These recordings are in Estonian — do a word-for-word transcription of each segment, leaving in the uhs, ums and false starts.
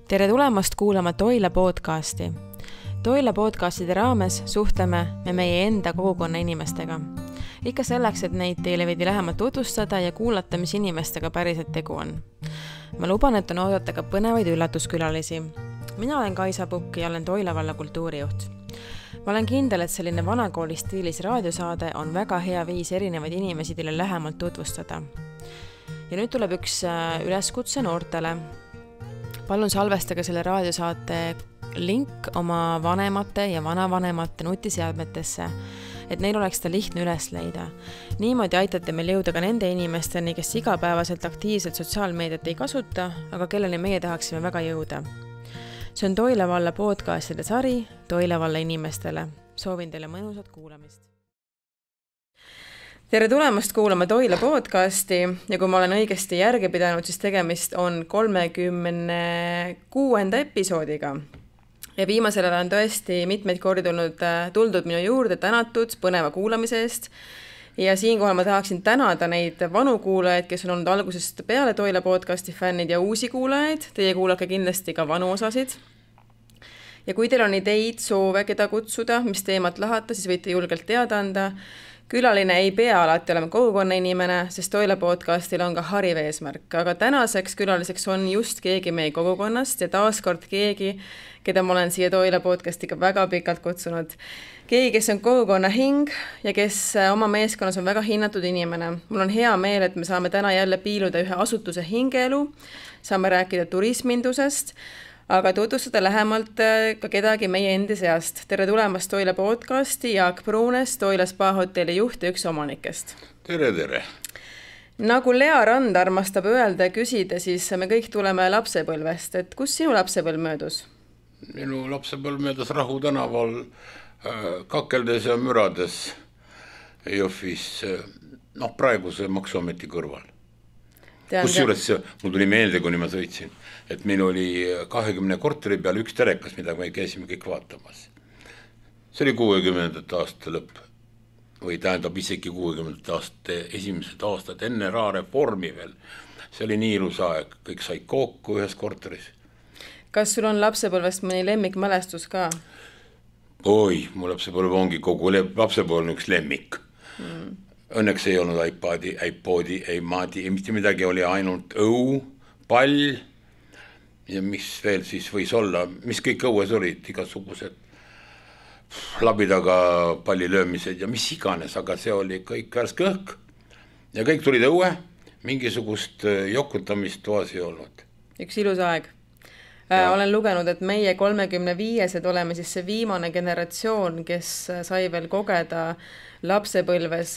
Tere tulemast kuulama Toila podcasti. Toila podcastide raames suhtleme me meie enda kogukonna inimestega. Ikka selleks, et neid teile veidi lähemalt tutvustada ja kuulata, mis inimestega päriselt tegu on. Ma luban, et on oodata ka põnevaid üllatuskülalisi. Mina olen Kaisa Pukk ja olen Toila valla kultuurijuht. Ma olen kindel, et selline vanakooli stiilis raadiosaade on väga hea viis erinevaid inimesi teile lähemalt tutvustada. Ja nüüd tuleb üks üleskutse noortele. Palun salvestage selle raadiosaate link oma vanemate ja vanavanemate nutiseadmetesse, et neil oleks ta lihtne üles leida. Niimoodi aitate meil jõuda ka nende inimesteni, kes igapäevaselt aktiivselt sotsiaalmeediat ei kasuta, aga kelleni meie tahaksime väga jõuda. See on Toila valla podcastide sari Toila valla inimestele. Soovin teile mõnusat kuulamist. Tere tulemast kuulama Toila podcasti ja kui ma olen õigesti järge pidanud, siis tegemist on kolmekümne kuuenda episoodiga. Ja viimasel ajal on tõesti mitmeid kordi tulnud, tuldud minu juurde tänatud põneva kuulamise eest. Ja siinkohal ma tahaksin tänada neid vanu kuulajaid, kes on olnud algusest peale Toila podcasti fännid ja uusi kuulajaid. Teie kuulake kindlasti ka vanu osasid. Ja kui teil on ideid, soove, keda kutsuda, mis teemat lahata, siis võite julgelt teada anda. Külaline ei pea alati olema kogukonna inimene, sest Toila podcastil on ka hariv eesmärk. Aga tänaseks külaliseks on just keegi meie kogukonnast ja taaskord keegi, keda ma olen siia Toila podcastiga väga pikalt kutsunud. Keegi, kes on kogukonna hing ja kes oma meeskonnas on väga hinnatud inimene. Mul on hea meel, et me saame täna jälle piiluda ühe asutuse hingeelu, saame rääkida turismindusest, aga tutvustada lähemalt ka kedagi meie endi seast. Tere tulemast Toila podcasti, Jaak Pruunes, Toila spa hotelli juht ja üks omanikest. Tere, tere. Nagu Lea Rand armastab öelda ja küsida, siis me kõik tuleme lapsepõlvest. Et kus sinu lapsepõlv möödus? Minu lapsepõlv möödus Rahu tänaval kakeldes ja mürades Jõhvis, noh praeguse maksuameti kõrval. Kus juures see, mul tuli meelde, kui ma sõitsin, et meil oli kahekümne korteri peal üks telekas, mida me käisime kõik vaatamas. See oli kuuekümnendate aasta lõpp või tähendab isegi kuuekümnendate aasta esimesed aastad enne rahareformi veel. See oli nii ilus aeg, kõik sai kokku ühes korteris. Kas sul on lapsepõlvest mõni lemmikmälestus ka? Oi, mu lapsepõlv ongi kogu lapsepõlv üks lemmik. Mm. Õnneks ei olnud iPadi, iPodi, iMadi, mitte midagi oli ainult õu, pall ja mis veel siis võis olla, mis kõik õues olid, igasugused labidaga pallilöömised ja mis iganes, aga see oli kõik värske õhk ja kõik tulid õue, mingisugust jokutamist toas ei olnud. Üks ilus aeg. Ja. Olen lugenud, et meie kolmekümne viiesed oleme siis see viimane generatsioon, kes sai veel kogeda lapsepõlves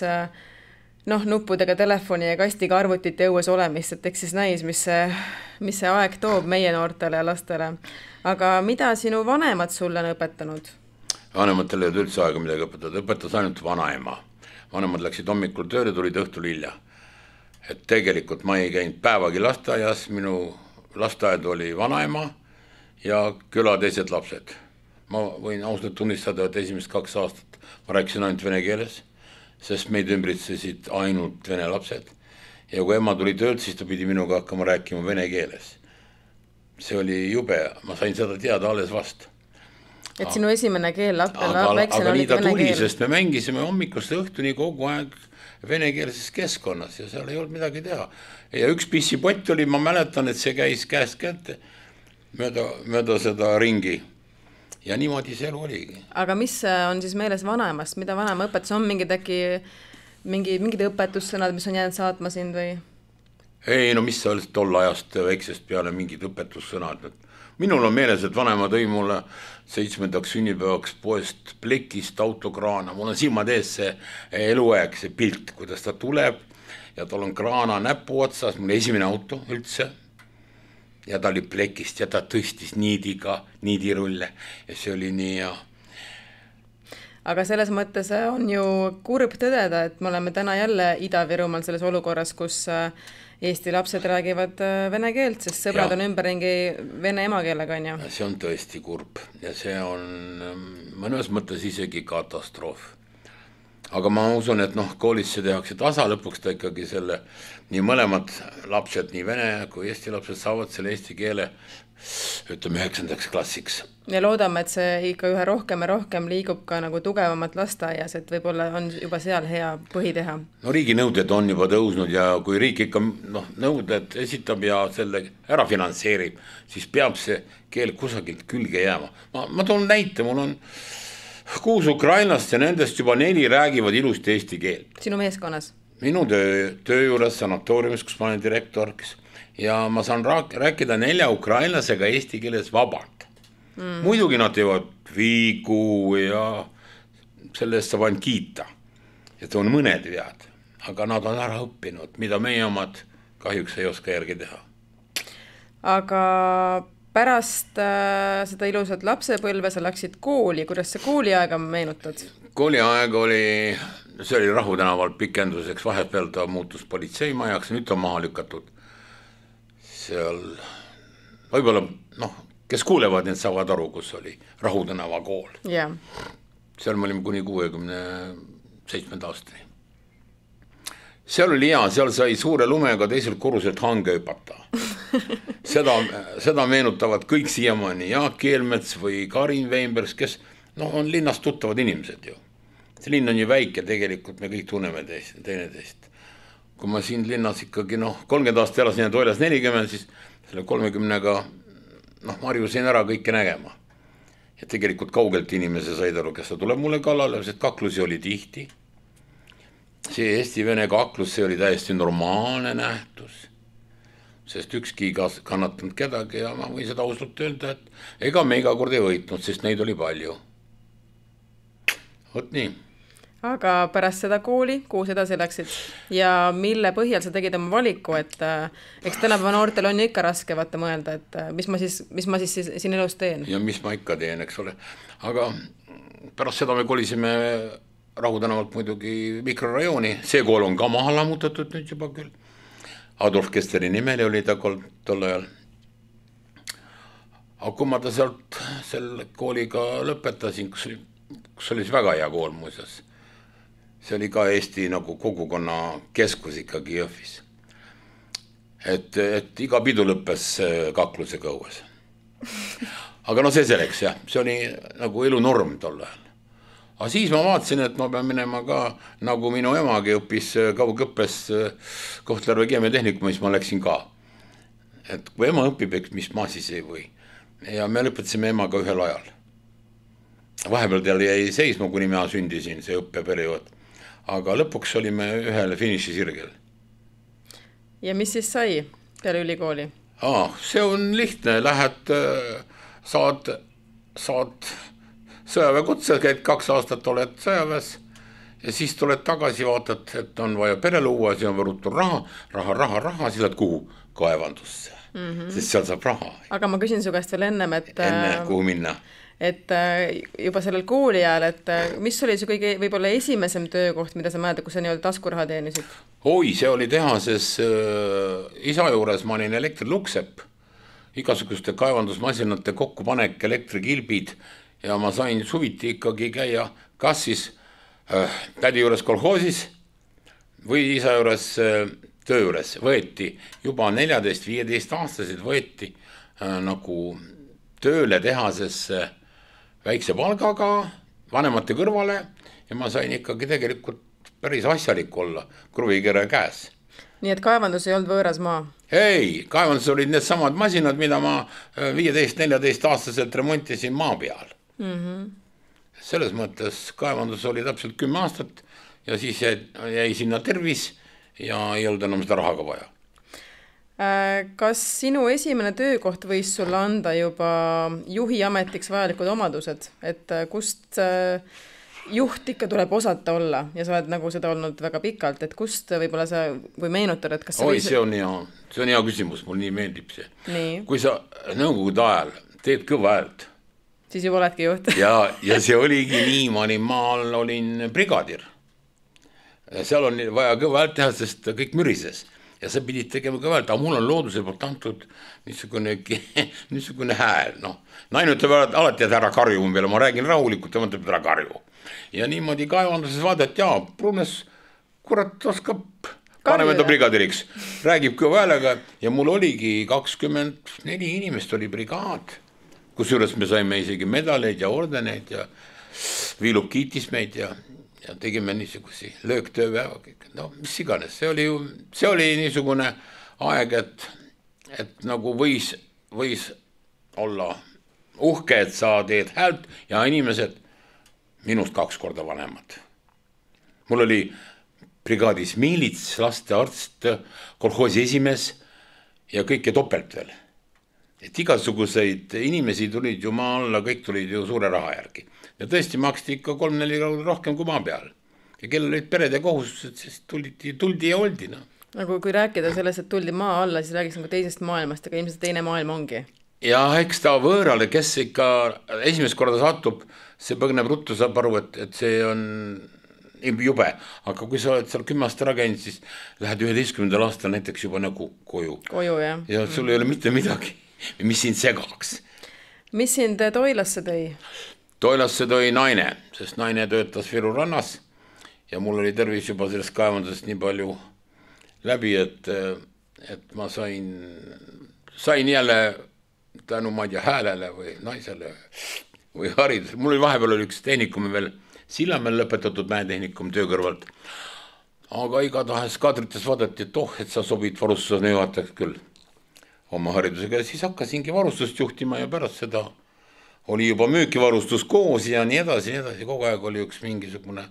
noh, nuppudega telefoni ja kastiga arvutite õues olemist, et eks siis näis, mis see, mis see aeg toob meie noortele ja lastele. Aga mida sinu vanemad sulle on õpetanud? Vanematele ei üldse aega midagi õpetada, õpetas ainult vanaema. Vanemad läksid hommikul tööle, tulid õhtul hilja. Et tegelikult ma ei käinud päevagi lasteaias, minu lasteaed oli vanaema ja küla teised lapsed. Ma võin ausalt tunnistada, et esimest kaks aastat ma rääkisin ainult vene keeles, sest meid ümbritsesid ainult vene lapsed. Ja kui ema tuli töölt, siis ta pidi minuga hakkama rääkima vene keeles. See oli jube, ma sain seda teada alles vast. Et sinu esimene keel lapsel aga, aga nii ta tuli, keel. Sest me mängisime hommikust õhtuni kogu aeg venekeelses keskkonnas ja seal ei olnud midagi teha. Ja üks pissipott oli, ma mäletan, et see käis käest kätte mööda, mööda seda ringi. Ja niimoodi see elu oligi. Aga mis on siis meeles vanaemast? Mida vanaema õpetus on? Mingid äkki mingi, mingid õpetussõnad, mis on jäänud saatma sind või? Ei, no mis see oli tol ajast väiksest peale mingid õpetussõnad. Minul on meeles, et vanaema tõi mulle seitsmendaks sünnipäevaks poest plekist autokraana. Mul on silmad ees see eluaeg, see pilt, kuidas ta tuleb ja tal on kraana näpu otsas, mul esimene auto üldse. Ja ta oli plekist ja ta tõstis niidiga, niidirulle ja see oli nii ja... Aga selles mõttes on ju kurb tõdeda, et me oleme täna jälle Ida-Virumaal selles olukorras, kus Eesti lapsed räägivad vene keelt, sest sõbrad ja. On ümberringi vene emakeelega, on ju. See on tõesti kurb ja see on mõnes mõttes isegi katastroof. aga ma usun, et noh, koolis see tehakse tasa, lõpuks ta ikkagi selle, nii mõlemad lapsed, nii vene kui eesti lapsed saavad selle eesti keele, ütleme üheksandaks klassiks. Ja loodame, et see ikka ühe rohkem ja rohkem liigub ka nagu tugevamat lasteaias, et võib-olla on juba seal hea põhi teha. No riigi nõuded on juba tõusnud ja kui riik ikka noh, nõuded esitab ja selle ära finantseerib, siis peab see keel kusagilt külge jääma. Ma, ma toon näite, mul on kuus ukrainlast ja nendest juba neli räägivad ilusti eesti keelt. Sinu meeskonnas? Minu töö, töö juures sanatooriumis, kus ma olen direktor, ja ma saan rääkida nelja ukrainlasega eesti keeles vabalt. Mm. Muidugi nad teevad viigu ja selle eest saab ainult kiita. Et on mõned vead, aga nad on ära õppinud, mida meie omad kahjuks ei oska järgi teha. Aga pärast äh, seda ilusat lapsepõlve sa läksid kooli, kuidas see kooliaega meenutad? Kooliaeg oli, see oli Rahu tänaval pikenduseks, vahepeal ta muutus politseimajaks, nüüd ta maha lükatud. Seal võib-olla, noh, kes kuulevad, need saavad aru, kus oli Rahu tänava kool. Yeah. Seal me olime kuni kuuekümne seitsmenda aastani. Seal oli hea, seal sai suure lumega teiselt korruselt hange hüpata. Seda, seda meenutavad kõik siiamaani, Jaak Keelmets või Karin Weinbergs, kes no, on linnast tuttavad inimesed ju. See linn on ju väike, tegelikult me kõik tunneme teist, teine teist. Kui ma siin linnas ikkagi noh, kolmkümmend aastat elasin ja toilas nelikümmend, siis selle kolmekümnega noh, marjusin ära kõike nägema. Ja tegelikult kaugelt inimese said aru, kes ta tuleb mulle kallale, sest kaklusi oli tihti. See Eesti-Vene kaklus, see oli täiesti normaalne nähtus, sest ükski ei kannatanud kedagi ja ma võin seda ausalt öelda, et ega me iga kord ei võitnud, sest neid oli palju. Võt nii. Aga pärast seda kooli, kuus edasi läksid ja mille põhjal sa tegid oma valiku, et äh, eks tänapäeva noortel on ikka raske vaata mõelda, et äh, mis ma siis, mis ma siis siin elus teen. Ja mis ma ikka teen, eks ole. Aga pärast seda me kolisime Rahu tänavalt muidugi mikrorajooni, see kool on ka maha lammutatud nüüd juba küll. Adolf Kesteri nimeli oli ta tol ajal. Aga kui ma ta sealt selle kooliga lõpetasin, kus oli, kus oli väga hea kool muuseas. See oli ka Eesti nagu kogukonna keskus ikkagi Jõhvis. Et, et iga pidu lõppes kaklusega õues. Aga no see selleks jah, see oli nagu elu norm tol ajal. Aga siis ma vaatasin, et ma pean minema ka, nagu minu emagi õppis kaugõppes Kohtla-Järve keemiatehnikum, mis ma läksin ka. Et kui ema õpib, mis ma siis ei või. Ja me lõpetasime emaga ühel ajal. Vahepeal tal jäi seisma, kuni mina sündisin, see õppeperiood. Aga lõpuks olime ühele finiši sirgel. Ja mis siis sai peale ülikooli? Ah, see on lihtne, lähed, saad, saad sõjaväekutse, käid kaks aastat oled sõjaväes ja siis tuled tagasi, vaatad, et on vaja pere luua, siis on võrutud raha, raha, raha, raha, siis lähed kuhu? Kaevandusse, mm-hmm. Sest seal saab raha. Aga ma küsin su käest veel ennem, et enne, kuhu minna? Et juba sellel kooli ajal, et mis oli su kõige võib-olla esimesem töökoht, mida sa mäletad, kus sa nii-öelda taskuraha teenisid? Oi, see oli tehases äh, isa juures, ma olin elektriluksep, igasuguste kaevandusmasinate kokkupanek, elektrikilbid ja ma sain suviti ikkagi käia kas siis äh, tädi juures kolhoosis või isa juures äh, töö juures. Võeti juba neljateist viieteist aastasid võeti äh, nagu tööle tehasesse väikse palgaga, vanemate kõrvale ja ma sain ikkagi tegelikult päris asjalik olla kruvikere käes. Nii et kaevandus ei olnud võõras maa? Ei, kaevandus olid need samad masinad, mida ma viieteist neljateist aastaselt remontisin maa peal. Mm-hmm. Selles mõttes kaevandus oli täpselt kümme aastat ja siis jäi, jäi sinna tervis ja ei olnud enam seda rahaga vaja. Kas sinu esimene töökoht võis sulle anda juba juhi ametiks vajalikud omadused, et kust juht ikka tuleb osata olla ja sa oled nagu seda olnud väga pikalt, et kust võib-olla sa või meenutad, et kas Oi, võis... see on hea, see on hea küsimus, mul nii meeldib see. Nii. Kui sa nõukogude ajal teed kõva häält, siis juba oledki juht. ja, ja see oligi nii, ma olin maal, olin brigadir. Seal on vaja kõva häält teha, sest kõik mürises. ja sa pidid tegema ka öelda, aga mul on looduse poolt antud niisugune, niisugune hääl, noh. Naine ütleb alati, et ära karju peale, ma räägin rahulikult, ja ma ütleb, et ära karju. Ja niimoodi kaevanduses vaadati, jaa, Brunes, kurat, oskab, paneme ta brigadiriks, räägib kõva häälega ja mul oligi kakskümmend neli inimest oli brigaad, kusjuures me saime isegi medaleid ja ordeneid ja Viilub kiitis meid ja ja tegime niisugusi lööktööpäeva kõik. No mis iganes, see oli ju, see oli niisugune aeg, et, et nagu võis, võis olla uhke, et sa teed häält ja inimesed minust kaks korda vanemad. Mul oli brigaadis miilits, lastearst, kolhoosi esimees ja kõike topelt veel. Et igasuguseid inimesi tulid ju maa alla, kõik tulid ju suure raha järgi. Ja tõesti maksti ikka kolm-neli rohkem kui maa peal. Ja kellel olid pered ja kohustused, siis tuldi, tuldi ja oldi. No. Nagu kui rääkida sellest, et tuldi maa alla, siis räägiks nagu teisest maailmast, aga ilmselt teine maailm ongi. Ja eks ta võõrale, kes ikka esimest korda satub, see põgneb ruttu, saab aru, et, et see on jube. Aga kui sa oled seal kümme aasta ära käinud, siis lähed üheteistkümnendal aastal näiteks juba nagu koju. Koju, jah. Ja sul mm. ei ole mitte midagi, mis sind segaks. Mis sind Toilasse tõi? Toilasse tõi naine, sest naine töötas Viru rannas ja mul oli tervis juba sellest kaevandusest nii palju läbi, et, et ma sain, sain jälle tänu ma ei tea häälele või naisele või haridus. Mul oli vahepeal oli üks tehnikumi veel Sillamäel lõpetatud mäetehnikum töö kõrvalt. Aga igatahes kadrites vaadati, et oh, et sa sobid varustusena juhatajaks küll oma haridusega ja siis hakkasingi varustust juhtima ja pärast seda oli juba müükivarustus koos ja nii edasi, nii edasi. Kogu aeg oli üks mingisugune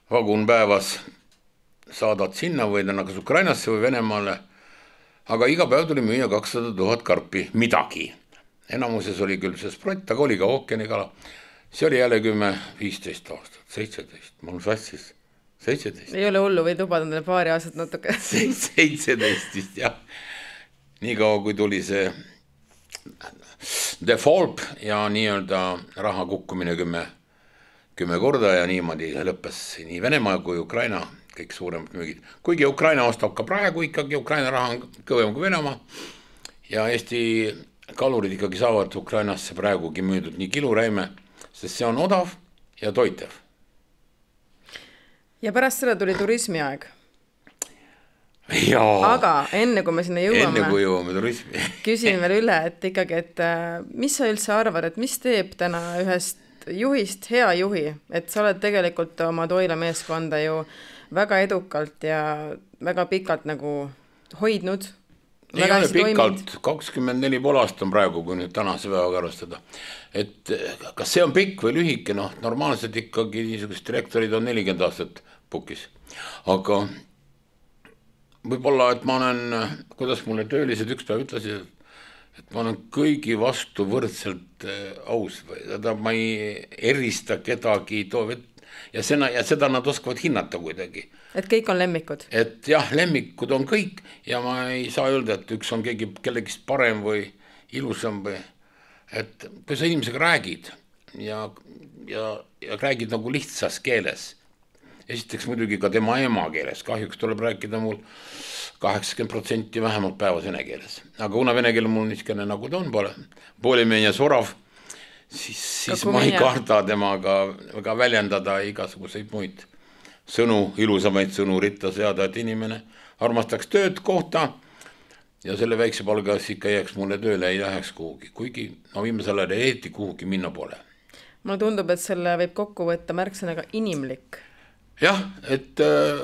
vagun päevas saadad sinna või täna kas Ukrainasse või Venemaale. Aga iga päev tuli müüa kakssada tuhat karpi midagi. Enamuses oli küll see sprott, aga oli ka ookeanikala. See oli jälle kümme, viisteist aastat, seitseteist. Mul sassis seitseteist. Ei ole hullu, võid lubada endale paari aastat natuke. seitseteist vist, jah. Nii kaua, kui tuli see default ja nii-öelda raha kukkumine kümme, kümme korda ja niimoodi lõppes nii Venemaa kui Ukraina kõik suuremad müügid. Kuigi Ukraina ostab ka praegu ikkagi, Ukraina raha on kõvem kui Venemaa ja Eesti kalurid ikkagi saavad Ukrainasse praegugi müüdud nii kiluräime, sest see on odav ja toitev. Ja pärast seda tuli turismi aeg. Jaa. Aga enne kui me sinna jõuame, enne kui jõuame turismi. küsin veel üle, et ikkagi, et mis sa üldse arvad, et mis teeb täna ühest juhist hea juhi, et sa oled tegelikult oma Toila meeskonda ju väga edukalt ja väga pikalt nagu hoidnud. Ei ole pikalt, kakskümmend neli pool aastat on praegu, kui nüüd tänase päevaga arvestada. Et kas see on pikk või lühike, noh, normaalselt ikkagi niisugust direktorid on nelikümmend aastat pukis. Aga võib-olla, et ma olen, kuidas mulle töölised üks päev ütlesid, et ma olen kõigi vastu võrdselt aus või seda ma ei erista kedagi ja, sena, ja seda nad oskavad hinnata kuidagi. Et kõik on lemmikud? Et jah, lemmikud on kõik ja ma ei saa öelda, et üks on keegi kellegist parem või ilusam või, et kui sa inimesega räägid ja, ja, ja räägid nagu lihtsas keeles, esiteks muidugi ka tema ema keeles, kahjuks tuleb rääkida mul kaheksakümmend protsenti vähemalt päevas vene keeles. Aga kuna vene keel mul niiskene nagu ta on pole, poolimeenia sorav, siis, siis ma ei karda temaga väga väljendada igasuguseid muid sõnu, ilusamaid sõnu ritta seada, et inimene armastaks tööd kohta ja selle väikse palgas ikka jääks mulle tööle, ei läheks kuhugi, kuigi no viimasel ajal eeti kuhugi minna pole. Mulle tundub, et selle võib kokku võtta märksõnaga inimlik. Jah, et äh,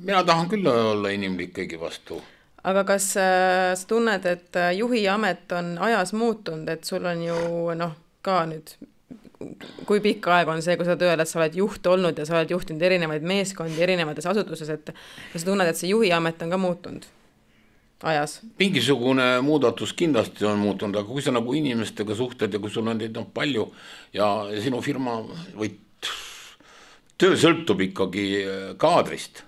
mina tahan küll olla inimlik kõigi vastu. Aga kas äh, sa tunned, et juhi amet on ajas muutunud, et sul on ju noh, ka nüüd, kui pikk aeg on see, kui sa tööle, et sa oled juht olnud ja sa oled juhtinud erinevaid meeskondi erinevates asutuses, et kas sa tunned, et see juhi amet on ka muutunud ajas? Mingisugune muudatus kindlasti on muutunud, aga kui sa nagu inimestega suhted ja kui sul on neid on palju ja sinu firma või töö sõltub ikkagi kaadrist.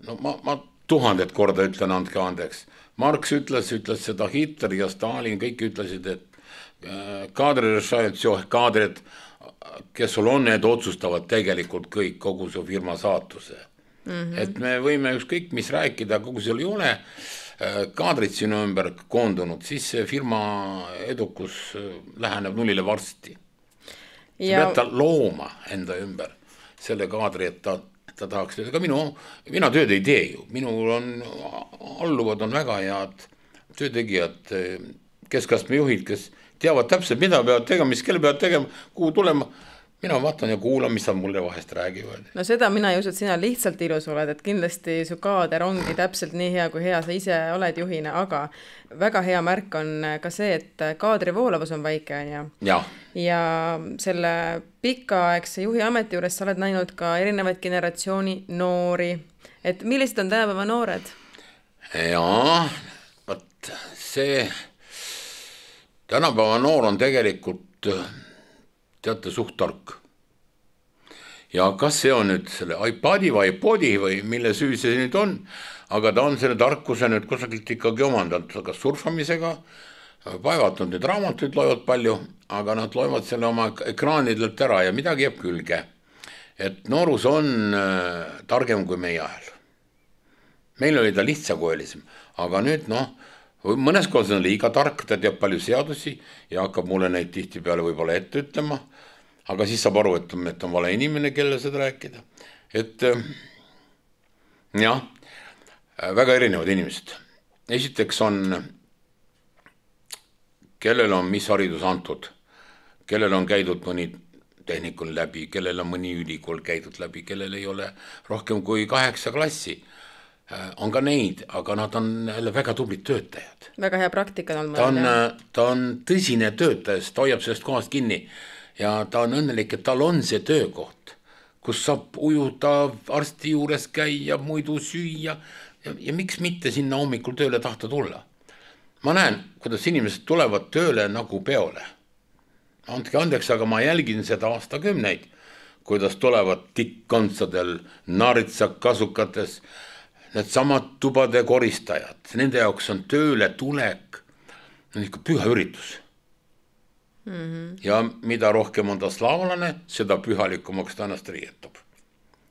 No ma, ma tuhandet korda ütlen, andke andeks. Marx ütles, ütles seda Hitler ja Stalin, kõik ütlesid, et kaadrid, kes sul on, need otsustavad tegelikult kõik kogu su firma saatuse. Mm-hmm. Et me võime ükskõik mis rääkida, kogu seal ei ole kaadrid sinu ümber koondunud, siis see firma edukus läheneb nullile varsti. Sa ja... pead ta looma enda ümber selle kaadri, et ta, ta tahaks, ega minu, mina tööd ei tee ju, minul on, alluvad on väga head töötegijad, keskastme juhid, kes teavad täpselt, mida peavad tegema, mis kelle peavad tegema, kuhu tulema. Mina vaatan ja kuulan, mis nad mulle vahest räägivad. No seda mina ei usu, et sina lihtsalt ilus oled, et kindlasti su kaader ongi täpselt nii hea, kui hea sa ise oled juhina, aga väga hea märk on ka see, et kaadri voolavus on väike. On ja. ja selle pikaaegse juhi ameti juures sa oled näinud ka erinevaid generatsiooni noori. Et millised on tänapäeva noored? Jaa, võt, see tänapäeva noor on tegelikult teate suht tark. Ja kas see on nüüd selle iPadi või iPodi või mille süü see nüüd on, aga ta on selle tarkuse nüüd kusagilt ikkagi omandanud, kas surfamisega, vaevatnud nüüd raamatuid loevad palju, aga nad loevad selle oma ekraanidelt ära ja midagi jääb külge. Et noorus on äh, targem kui meie ajal. Meil oli ta lihtsakoelisem, aga nüüd noh, mõnes kohas on liiga tark, ta teab palju seadusi ja hakkab mulle neid tihti peale võib-olla ette ütlema, aga siis saab aru, et, et on vale inimene, kelle seda rääkida. Et jah, väga erinevad inimesed. Esiteks on, kellel on mis haridus antud, kellel on käidud mõni tehnikul läbi, kellel on mõni ülikool käidud läbi, kellel ei ole rohkem kui kaheksa klassi. On ka neid, aga nad on väga tublid töötajad. Väga hea praktika on ta on, ta on tõsine töötaja, ta hoiab sellest kohast kinni ja ta on õnnelik, et tal on see töökoht, kus saab ujuda, arsti juures käia, muidu süüa ja, ja miks mitte sinna hommikul tööle tahta tulla. Ma näen, kuidas inimesed tulevad tööle nagu peole. Andke andeks, aga ma jälgin seda aastakümneid, kuidas tulevad tikkkontsadel, naritsak kasukates, need samad tubade koristajad, nende jaoks on tööle tulek, on ikka püha üritus. Mm-hmm. Ja mida rohkem on ta slaavlane, seda pühalikumaks ta ennast riietab.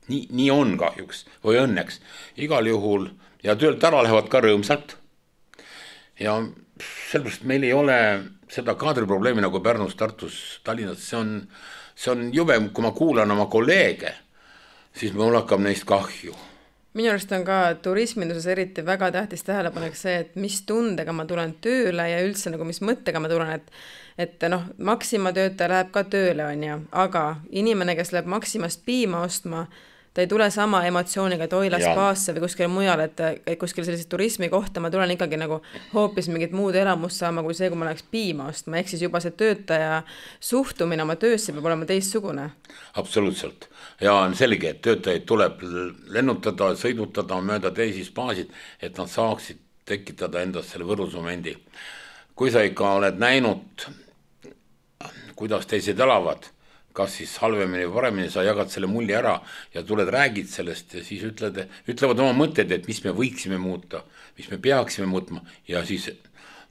Nii, nii on kahjuks või õnneks. Igal juhul ja töölt ära lähevad ka rõõmsalt. Ja sellepärast meil ei ole seda kaadriprobleemi nagu Pärnus, Tartus, Tallinnas. See on, see on jube, kui ma kuulan oma kolleege, siis mul hakkab neist kahju. Minu arust on ka turisminduses eriti väga tähtis tähelepanek see, et mis tundega ma tulen tööle ja üldse nagu mis mõttega ma tulen, et, et noh, Maxima töötaja läheb ka tööle, on ja, aga inimene, kes läheb Maximast piima ostma, ta ei tule sama emotsiooniga Toila spaasse või kuskil mujal, et, et kuskil sellise turismi kohta ma tulen ikkagi nagu hoopis mingit muud elamust saama kui see, kui ma läheks piima ostma, ehk siis juba see töötaja suhtumine oma töösse peab olema teistsugune. Absoluutselt. Ja on selge, et töötajaid tuleb lennutada, sõidutada mööda teisi spaasid, et nad saaksid tekitada endast selle võrdlusmomendi. Kui sa ikka oled näinud, kuidas teised elavad, kas siis halvemini või paremini, sa jagad selle mulli ära ja tuled, räägid sellest ja siis ütled, ütlevad oma mõtted, et mis me võiksime muuta, mis me peaksime muutma ja siis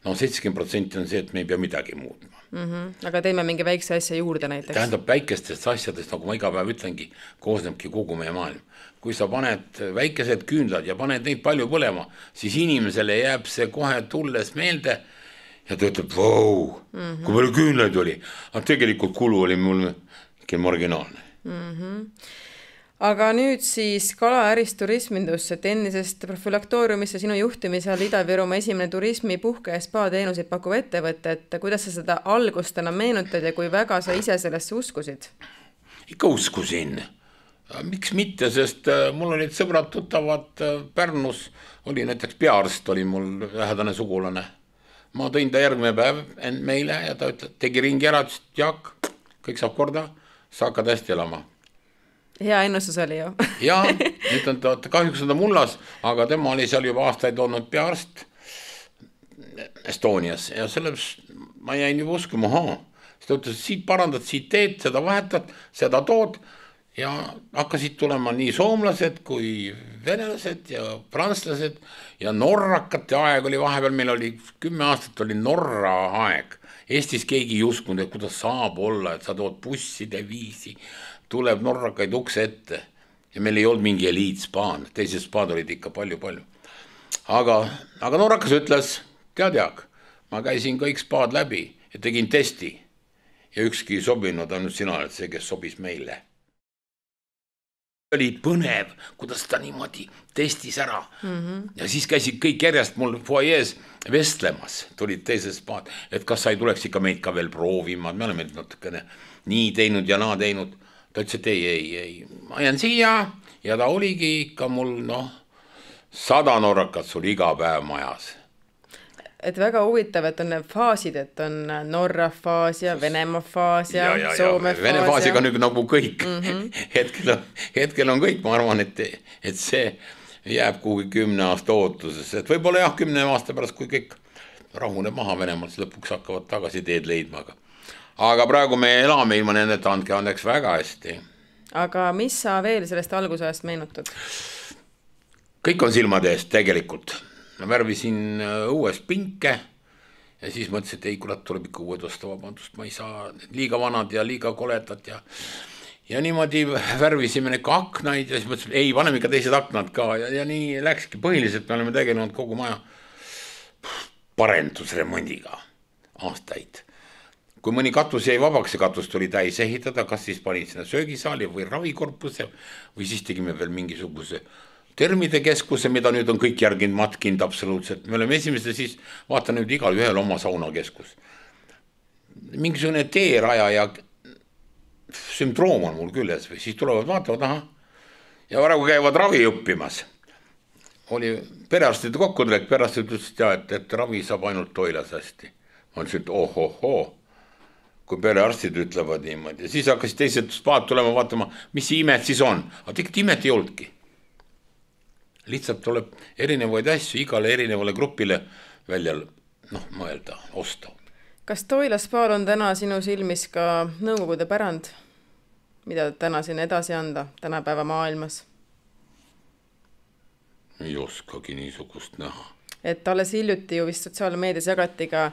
no seitsekümmend protsenti on see, et me ei pea midagi muutma. Mm-hmm. Aga teeme mingi väikse asja juurde näiteks. Tähendab väikestest asjadest, nagu ma iga päev ütlengi, koosnebki kogu meie maailm. Kui sa paned väikesed küünlad ja paned neid palju põlema, siis inimesele jääb see kohe tulles meelde ja ta ütleb, vau, mm-hmm. kui palju küünlaid oli. Aga tegelikult kulu oli mul ikka marginaalne. Mm-hmm. Aga nüüd siis kalaärist turismindusse, tennisest profülaktooriumisse sinu juhtimisel Ida-Virumaa esimene turismi, puhke ja spa teenuseid pakkuv ettevõte, et kuidas sa seda algust enam meenutad ja kui väga sa ise sellesse uskusid? Ikka uskusin. Miks mitte, sest mul olid sõbrad tuttavad Pärnus, oli näiteks peaarst, oli mul lähedane sugulane. Ma tõin ta järgmine päev end meile ja ta ütles, tegi ringi ära, ütles, Jaak, kõik saab korda, sa hakkad hästi elama. Hea ennustus oli ju. Ja, nüüd on ta, kahjuks on ta mullas, aga tema oli seal juba aastaid olnud peaarst Estonias ja selles ma jäin juba uskuma, haa. Siis ta ütles, siit parandad, siit teed, seda vahetad, seda tood ja hakkasid tulema nii soomlased kui venelased ja prantslased ja norrakate aeg oli vahepeal, meil oli kümme aastat oli Norra aeg. Eestis keegi ei uskunud, et kuidas saab olla, et sa tood busside viisi, tuleb norrakaid ukse ette ja meil ei olnud mingi eliitspaad, teised spaad olid ikka palju-palju. Aga, aga norrakas ütles, tead Jaak, ma käisin kõik spaad läbi ja tegin testi ja ükski sobinud, ainult sina oled see, kes sobis meile. Oli põnev, kuidas ta niimoodi testis ära mm-hmm. ja siis käisid kõik järjest mul foajees vestlemas, tulid teises spaad, et kas sa ei tuleks ikka meid ka veel proovima, me oleme natukene nii teinud ja naa teinud. Ta ütles, et ei, ei, ei, ma jään siia ja ta oligi ikka mul noh, sada norrakat sul iga päev majas. Et väga huvitav, et on need faasid, et on Norra faas ja Venemaa faas ja, ja, ja Soome faas. Vene faasiga on nagu kõik. Mm-hmm. hetkel, on, hetkel on kõik, ma arvan, et, et see jääb kuhugi kümne aasta ootuses. Et võib-olla jah, kümne aasta pärast, kui kõik rahuneb maha Venemaal, siis lõpuks hakkavad tagasi teed leidma. Aga, aga praegu me elame ilma nendeta, andke andeks väga hästi. Aga mis sa veel sellest algusajast meenutad? Kõik on silmade eest tegelikult. Ma värvisin uues pinke ja siis mõtlesin, et ei, kurat, tuleb ikka uued osta, vabandust, ma ei saa liiga vanad ja liiga koletad ja ja niimoodi värvisime need ka aknaid ja siis mõtlesin, ei, paneme ikka teised aknad ka ja, ja nii läkski. Põhiliselt me oleme tegelenud kogu maja parendusremondiga aastaid. Kui mõni katus jäi vabaks, see katus tuli täis ehitada, kas siis panid sinna söögisaali või ravikorpuse või siis tegime veel mingisuguse termide keskuse, mida nüüd on kõik järginud matkind absoluutselt. Me oleme esimeste siis, vaata nüüd igal ühel oma saunakeskus. Mingisugune teeraja ja sündroom on mul küljes või siis tulevad vaatavad, aha, ja praegu käivad ravi õppimas. Oli perearstide kokkutulek, perearstid ütlesid, ja, et, et ravi saab ainult toilas hästi. Ma ütlesin, et oh, oh, oh, kui perearstid ütlevad niimoodi. Ja siis hakkas teised spaad tulema vaatama, mis imet siis on. Aga tegelikult imet ei oldki. Lihtsalt tuleb erinevaid asju igale erinevale grupile välja noh, mõelda, osta. Kas Toila spaal on täna sinu silmis ka nõukogude pärand, mida täna siin edasi anda tänapäeva maailmas? Ei oskagi niisugust näha. Et alles hiljuti ju vist sotsiaalmeedias jagati ka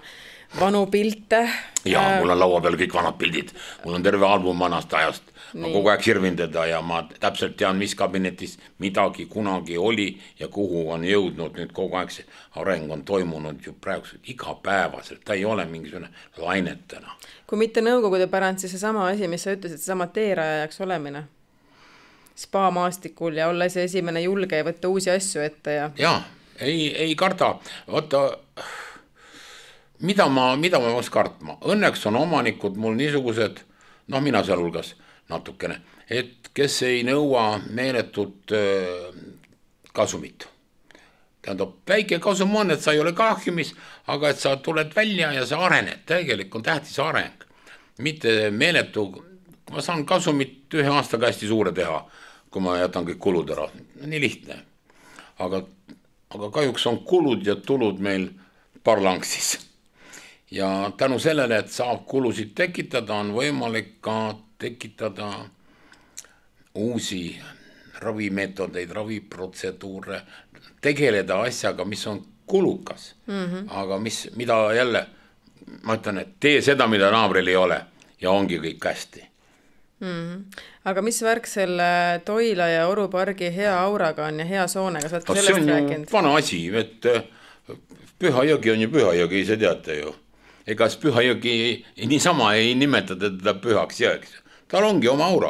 vanu pilte. Jaa, mul on laua peal kõik vanad pildid. Mul on terve album vanast ajast. Ma kogu aeg sirvin teda ja ma täpselt tean, mis kabinetis midagi kunagi oli ja kuhu on jõudnud. Nüüd kogu aeg see areng on toimunud ju praegu igapäevaselt. Ta ei ole mingisugune lainetena. Kui mitte nõukogude pärand, siis see sama asi, mis sa ütlesid, see sama teerajajaks olemine. Spa maastikul ja olla see esimene julge ja võtta uusi asju ette. Ja, ja ei, ei karda. Võtta... Mida ma, mida ma võiks kartma? Õnneks on omanikud mul niisugused, noh mina seal hulgas natukene, et kes ei nõua meeletut kasumit. Tähendab, väike kasum on, et sa ei ole kahjumis, aga et sa tuled välja ja sa arened. Tegelikult on tähtis areng. Mitte meeletu, ma saan kasumit ühe aastaga hästi suure teha, kui ma jätan kõik kulud ära. Nii lihtne. Aga, aga kahjuks on kulud ja tulud meil parlanksis. Ja tänu sellele, et saab kulusid tekitada, on võimalik ka tekitada uusi ravimeetodeid, raviprotseduure, tegeleda asjaga, mis on kulukas, mm-hmm. aga mis, mida jälle, ma ütlen, et tee seda, mida naabril ei ole ja ongi kõik hästi. Mm-hmm. Aga mis värk selle Toila ja Oru pargi hea auraga on ja hea soonega? Sa oled ka sellest rääkinud? See on vana asi, et Püha jõgi on ju Püha jõgi, ise teate ju. Ega Püha jõgi niisama ei nimetada teda pühaks jõeks. Tal ongi oma aura.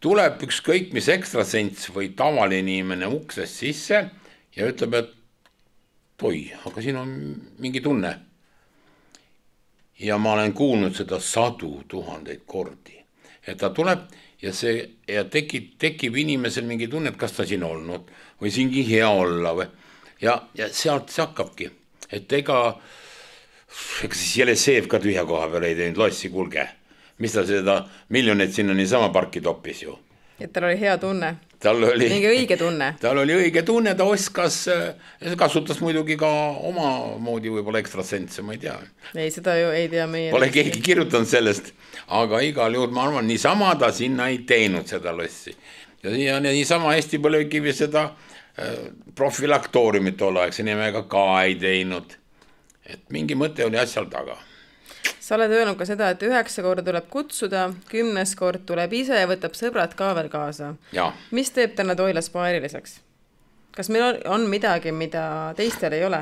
Tuleb üks kõik, mis ekstrasents või tavaline inimene uksest sisse ja ütleb, et oi, aga siin on mingi tunne. Ja ma olen kuulnud seda sadu tuhandeid kordi. Et ta tuleb ja, see, ja tekib, tekib inimesel mingi tunne, et kas ta siin olnud või siingi hea olla. Või. Ja, ja sealt see hakkabki. Et ega... Ega siis Jeleseev ka tühja koha peal ei teinud lossi, kulge. Mis ta seda miljoneid sinna niisama parki toppis ju. Et tal oli hea tunne. Tal oli, mingi õige tunne. Tal oli õige tunne, ta oskas, kasutas muidugi ka oma moodi võib-olla ekstrasentse, ma ei tea. Ei, seda ju ei tea meie. Pole keegi kirjutanud sellest, aga igal juhul ma arvan, niisama ta sinna ei teinud seda lossi. Ja, ja niisama Eesti Põlevkivi seda profilaktooriumit tol aeg, see nimega ka ei teinud. Et mingi mõte oli asjal taga. Sa oled öelnud ka seda, et üheksa korda tuleb kutsuda, kümnes kord tuleb ise ja võtab sõbrad ka veel kaasa. Ja. Mis teeb täna Toila spa eriliseks? Kas meil on, on midagi, mida teistel ei ole?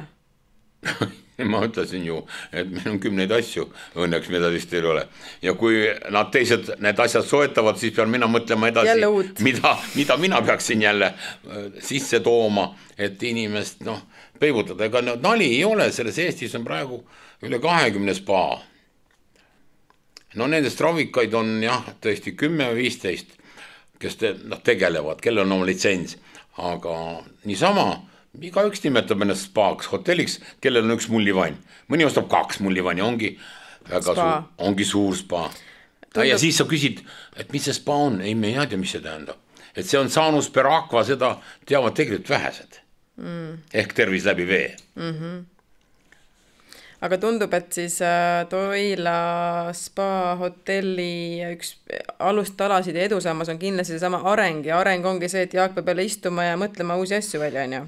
Ma ütlesin ju, et meil on kümneid asju õnneks, mida teistel ei ole. Ja kui nad teised need asjad soetavad, siis pean mina mõtlema edasi, mida, mida mina peaksin jälle sisse tooma, et inimest noh, peibutada. Ega nali ei ole, selles Eestis on praegu üle kahekümne spa. No nendest ravikaid on jah, tõesti kümme või viisteist, kes te, noh, tegelevad, kellel on oma litsents, aga niisama, iga üks nimetab ennast spaaks, hotelliks, kellel on üks mullivann. Mõni ostab kaks mullivanni, ongi väga spa. Suur, ongi suur spa. Tundub... Ja siis sa küsid, et mis see spa on? Ei, me ei tea, mis see tähendab. Et see on saanus per aqua, seda teavad tegelikult vähesed. Mm. Ehk tervis läbi vee. Mhm. Aga tundub, et siis Toila spa hotelli üks alustalasid ja edusammas on kindlasti see sama areng ja areng ongi see, et Jaak peab jälle istuma ja mõtlema uusi asju välja, on ju.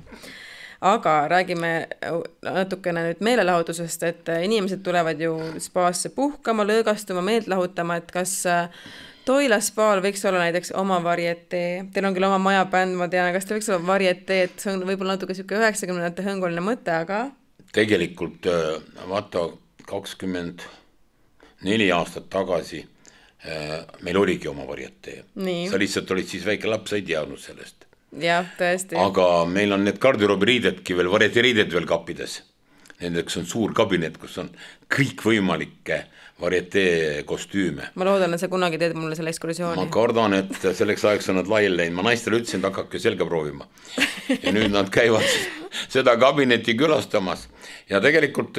Aga räägime natukene nüüd meelelahutusest, et inimesed tulevad ju spaasse puhkama, lõõgastuma, meelt lahutama, et kas Toila spaal võiks olla näiteks oma varietee, teil on küll oma majabänd, ma tean, kas teil võiks olla varietee, et see on võib-olla natuke siuke üheksakümnendate hõnguline mõte, aga... Tegelikult vaata kakskümmend neli aastat tagasi meil oligi oma varietee. Nii. Sa lihtsalt olid siis väike laps, ei teadnud sellest. Jah, tõesti. Aga meil on need garderoobiriidedki veel, varietee-riided veel kappides. Nendeks on suur kabinet, kus on kõik võimalikke varietee kostüüme. Ma loodan, et sa kunagi teed mulle selle ekskursiooni. Ma kardan, et selleks ajaks on nad laiali läinud. Ma naistele ütlesin, et hakkake selga proovima. Ja nüüd nad käivad seda kabinetti külastamas. Ja tegelikult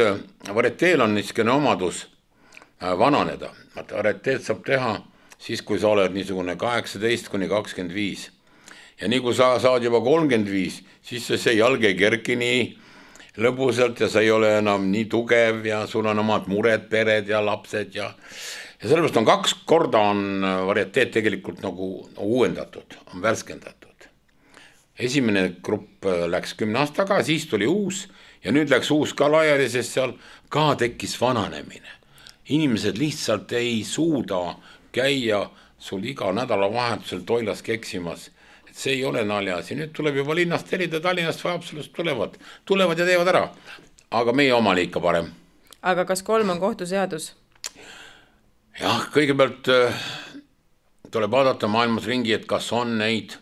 varieteel on niisugune omadus vananeda. Varieteed saab teha siis, kui sa oled niisugune kaheksateist kuni kakskümmend viis. Ja nii kui sa saad juba kolmkümmend viis, siis see jalg ei kerki nii lõbusalt ja sa ei ole enam nii tugev ja sul on omad mured, pered ja lapsed ja, ja sellepärast on kaks korda on varieteed tegelikult nagu uuendatud, on värskendatud. Esimene grupp läks kümne aastaga, siis tuli uus ja nüüd läks uus ka laiali, sest seal ka tekkis vananemine. Inimesed lihtsalt ei suuda käia sul iga nädala vahetusel Toilas keksimas. See ei ole naljas ja nüüd tuleb juba linnast telida, Tallinnast või absoluutselt tulevad. Tulevad ja teevad ära, aga meie omale ikka parem. Aga kas kolm on kohtuseadus? Jah, kõigepealt tuleb vaadata maailmas ringi, et kas on neid,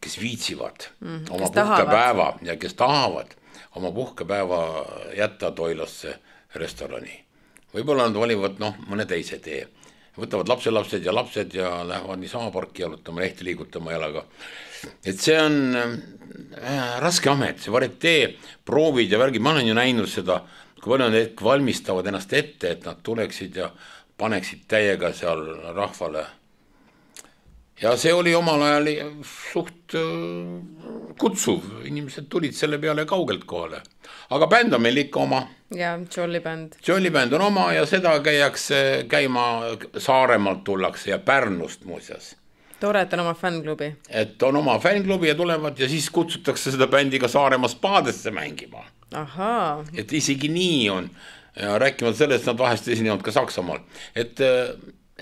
kes viitsivad mm, oma kes puhkepäeva ja kes tahavad oma puhkepäeva jätta Toilasse restorani. Võib-olla nad valivad noh, mõne teise tee. Võtavad lapselapsed ja lapsed ja lähevad niisama parki jalutama, lehti liigutama jalaga. Et see on äh, raske amet, see varietee, proovid ja värgid, ma olen ju näinud seda, kui palju nad valmistavad ennast ette, et nad tuleksid ja paneksid täiega seal rahvale. Ja see oli omal ajal suht äh, kutsuv, inimesed tulid selle peale kaugelt kohale. Aga bänd on meil ikka oma. Ja, Jolly Band. Jolly Band on oma ja seda käiakse käima Saaremaalt tullakse ja Pärnust muuseas. Tore, et on oma fänklubi. Et on oma fänklubi ja tulevad ja siis kutsutakse seda bändi ka Saaremaa spaadesse mängima. Ahaa. Et isegi nii on. Ja rääkivad sellest, nad vahest esinevad ka Saksamaal. Et,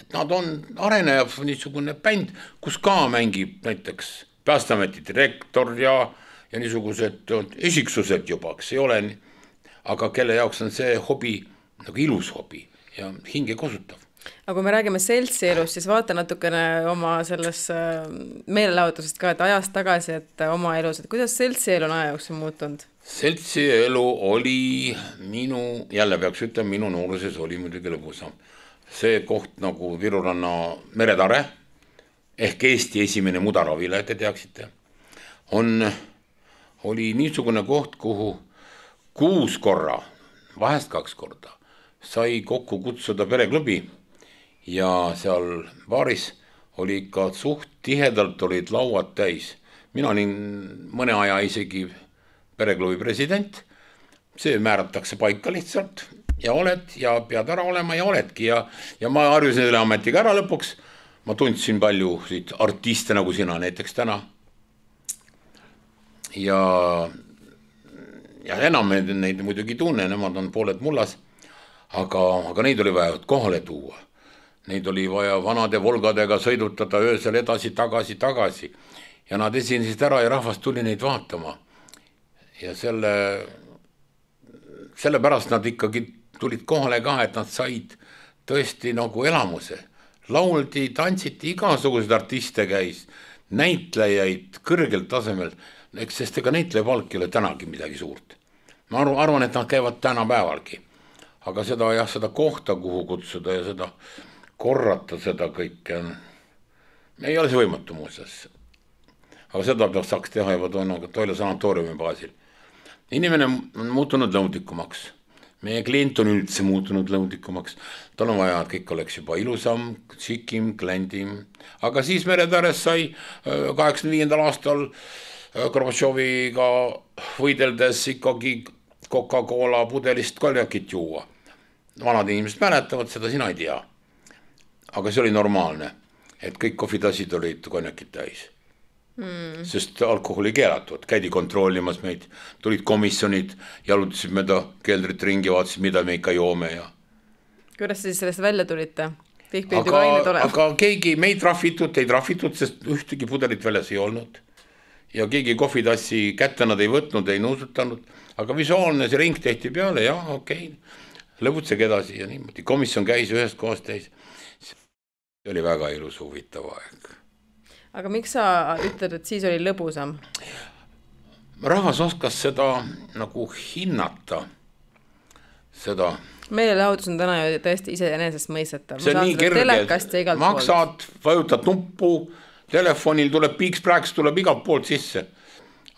et nad on arenejav niisugune bänd, kus ka mängib näiteks Päästeameti direktor ja, ja niisugused esiksused juba, kes ei ole, aga kelle jaoks on see hobi nagu ilus hobi ja hinge kosutav. Aga kui me räägime seltsi elust, siis vaata natukene oma selles meelelahutusest ka, et ajast tagasi, et oma elus, et kuidas seltsi elu on aja jooksul muutunud? Seltsi elu oli minu, jälle peaks ütlema, minu nooruses oli muidugi lõbusam. See koht nagu Viruranna meretare, ehk Eesti esimene mudaravile, te teaksite, on, oli niisugune koht, kuhu kuus korra, vahest kaks korda, sai kokku kutsuda pereklubi ja seal baaris oli ikka suht tihedalt olid lauad täis. Mina olin mõne aja isegi pereklubi president, see määratakse paika lihtsalt ja oled ja pead ära olema ja oledki ja, ja ma harjusin selle ametiga ära lõpuks. Ma tundsin palju siit artiste nagu sina näiteks täna ja ja enam neid muidugi tunne, nemad on pooled mullas, aga, aga neid oli vaja kohale tuua. Neid oli vaja vanade Volgadega sõidutada öösel edasi, tagasi, tagasi. Ja nad esinesid ära ja rahvas tuli neid vaatama. Ja selle, selle pärast nad ikkagi tulid kohale ka, et nad said tõesti nagu elamuse. Lauldi, tantsiti, igasugused artiste käis, näitlejaid kõrgelt tasemel, eks sest ega näitleja palk ei ole tänagi midagi suurt. Ma arvan, et nad käivad täna päevalgi. Aga seda, jah, seda kohta, kuhu kutsuda ja seda korrata seda kõike, ei ole see võimatu muuseas. Aga seda saaks teha juba Toila sanatooriumi baasil. Inimene on muutunud lõudikumaks. Meie klient on üldse muutunud lõudikumaks. Tal on vaja, et kõik oleks juba ilusam, sikim, klendim. Aga siis Meretääres sai kaheksakümne viiendal aastal Gorbatšoviga võideldes ikkagi Coca-Cola pudelist konjakit juua. Vanad inimesed mäletavad, seda sina ei tea. Aga see oli normaalne, et kõik kohvitasid olid konjakit täis. Mm. Sest alkoholi keelatud, käidi kontrollimas meid, tulid komisjonid, jalutasid mööda keldrit ringi, vaatasid, mida me ikka joome. Ja... Kuidas siis sellest välja tulite? Aga, aga keegi meid trahvitud, ei trahvitud, sest ühtegi pudelit väljas ei olnud. Ja keegi kohvitassi kätte nad ei võtnud, ei nuusutanud. Aga visuaalne see ring tehti peale, jah, okei, okay. Lõbutsege edasi ja niimoodi. Komisjon käis ühest kohast täis. See oli väga ilus huvitav aeg. Aga miks sa ütled, et siis oli lõbusam? Rahvas oskas seda nagu hinnata. Seda. Meelelahutus on täna ju tõesti ise enesest mõistetav. See on nii kerge. Maksad, vajutad nuppu, telefonil tuleb piiks-prääks, tuleb igalt poolt sisse.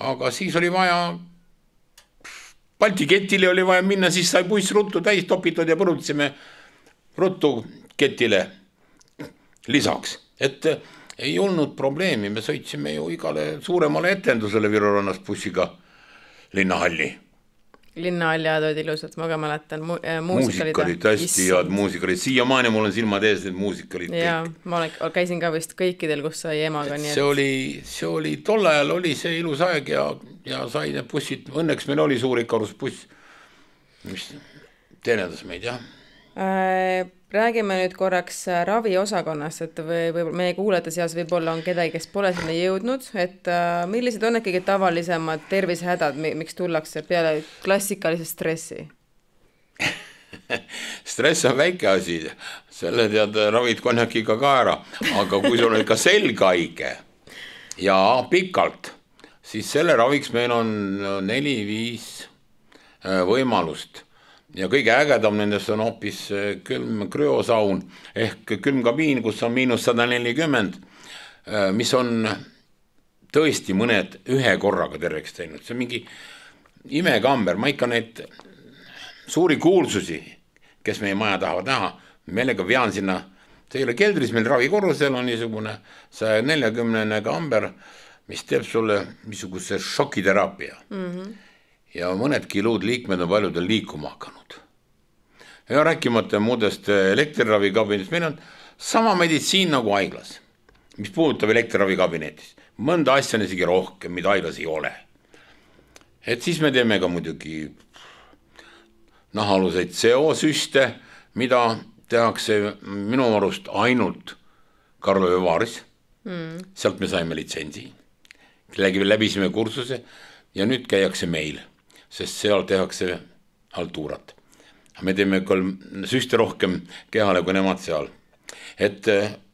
Aga siis oli vaja, Balti ketile oli vaja minna, siis sai buss ruttu täis topitud ja põrutsime ruttu ketile lisaks. Et ei olnud probleemi, me sõitsime ju igale suuremale etendusele Virurannas bussiga Linnahalli. Linnahalli ajad olid ilusad, ma ka mäletan. Mu muusik oli tõesti head, muusik oli. Siiamaani mul on silmad ees, et muusik olid kõik. Ja, ma käisin ka vist kõikidel, kus sai emaga. Nii, et... see, oli, see oli, tol ajal oli see ilus aeg ja, ja sai need bussid, õnneks meil oli suur ikarusbuss, mis teenendas meid, jah. Äh, räägime nüüd korraks raviosakonnast, et või, või meie kuulajate seas võib-olla on kedagi, kes pole sinna jõudnud, et äh, millised on ikkagi tavalisemad tervisehädad, miks tullakse peale klassikalise stressi? Stress on väike asi, selle tead ravid konjakiga ka ära, aga kui sul on ikka selgaige ja pikalt, siis selle raviks meil on neli-viis võimalust. Ja kõige ägedam nendest on hoopis külm krüosaun ehk külmkabiin, kus on miinus sada nelikümmend, mis on tõesti mõned ühe korraga terveks teinud. See on mingi imekamber, ma ikka neid suuri kuulsusi, kes meie maja tahavad näha, meelega vean sinna, see ei ole keldris, meil ravikorrusel on niisugune saja neljakümnene kamber, mis teeb sulle niisuguse šokiteraapia. Mm-hmm. Ja mõnedki luud liikmed on paljudel liikuma hakanud. Ja rääkimata muudest elektriravikabinetist, meil on sama meditsiin nagu haiglas, mis puudutab elektriravikabinetist. Mõnda asja on isegi rohkem, mida haiglas ei ole. Et siis me teeme ka muidugi nahaluseid seosüste, mida tehakse minu arust ainult Karlovy Varis. Mm. Sealt me saime litsentsi. Läbisime kursuse ja nüüd käiakse meil. Sest seal tehakse haltuurat. Me teeme kolm süste rohkem kehale kui nemad seal. Et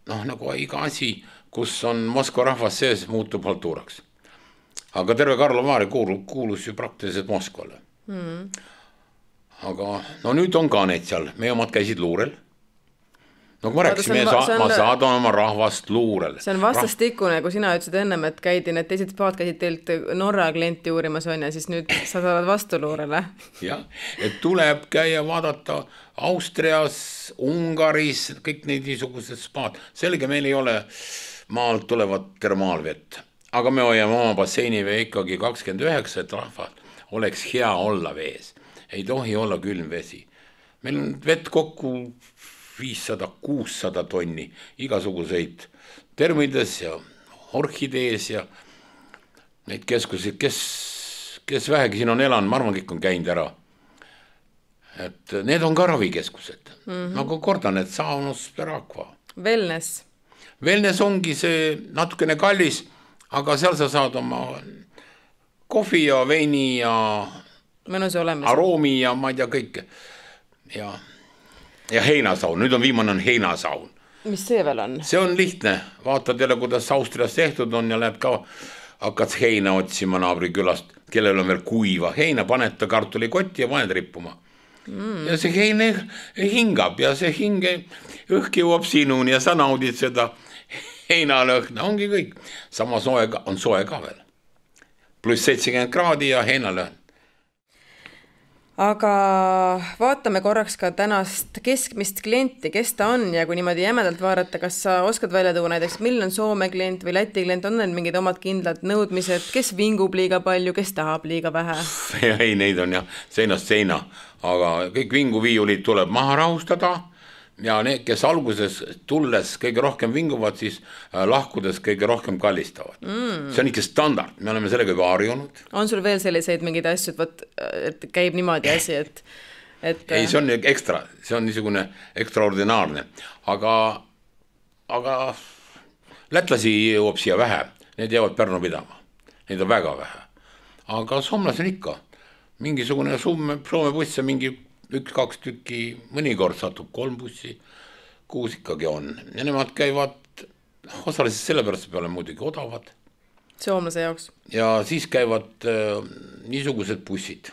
noh, nagu iga asi, kus on Moskva rahvas sees, muutub haltuuraks. Aga terve Karlovy Vary kuulus ju praktiliselt Moskvale. Mm. Aga no nüüd on ka need seal, meie omad käisid luurel. No kui ma rääksin, me sa- on... ma saadan oma rahvast luurele. See on vastastikune, kui sina ütlesid ennem, et käidi, need teised paad käisid teilt Norra klienti uurimas on ja siis nüüd sa saad vastu luurele. Jah, et tuleb käia vaadata Austrias, Ungaris, kõik neid niisugused spaad. Selge, meil ei ole maalt tulevat termaalvett, aga me hoiame oma basseinive ikkagi kakskümmend üheksa, et rahval oleks hea olla vees. Ei tohi olla külm vesi. Meil on vett kokku viissada kuussada tonni, igasuguseid termides ja orhidees ja neid keskusi, kes, kes vähegi siin on elanud, ma arvan, kõik on käinud ära. et need on ka ravikeskused mm. -hmm. nagu kordan, et Saunus per Aqua. Wellness. Wellness ongi see natukene kallis, aga seal sa saad oma kohvi ja veini ja mõnus olemas. Aroomi ja ma ei tea kõike. Ja, ja heinasaun, nüüd on viimane on heinasaun. Mis see veel on? See on lihtne, vaatad jälle, kuidas Austrias tehtud on ja lähed ka, hakkad heina otsima naabri külast, kellel on veel kuiva heina, paned ta kartulikotti ja paned rippuma. Mm. Ja see heine hingab ja see hinge õhk jõuab sinuni ja sa naudid seda heinalõhna, ongi kõik. Sama soe on soe ka veel. Pluss seitsekümmend kraadi ja heinalõhn. Aga vaatame korraks ka tänast keskmist klienti, kes ta on ja kui niimoodi jämedalt vaadata, kas sa oskad välja tuua näiteks, milline on Soome klient või Läti klient, on need mingid omad kindlad nõudmised, kes vingub liiga palju, kes tahab liiga vähe? Ei, neid on jah seinast seina, aga kõik vinguviiulid tuleb maha rahustada ja need, kes alguses tulles kõige rohkem vinguvad, siis lahkudes kõige rohkem kallistavad. Mm. See on ikka standard, me oleme sellega juba harjunud. On sul veel selliseid mingeid asju, et, võt, et käib niimoodi asi, et, et... Ei, see on ekstra, see on niisugune ekstraordinaarne, aga, aga lätlasi jõuab siia vähe, need jäävad Pärnu pidama, neid on väga vähe. Aga soomlasi on ikka, mingisugune Soome, Soome buss ja mingi üks-kaks tükki, mõnikord satub kolm bussi, kuus ikkagi on. Ja nemad käivad osaliselt sellepärast peale muidugi odavad. Soomlase jaoks. Ja siis käivad äh, niisugused bussid.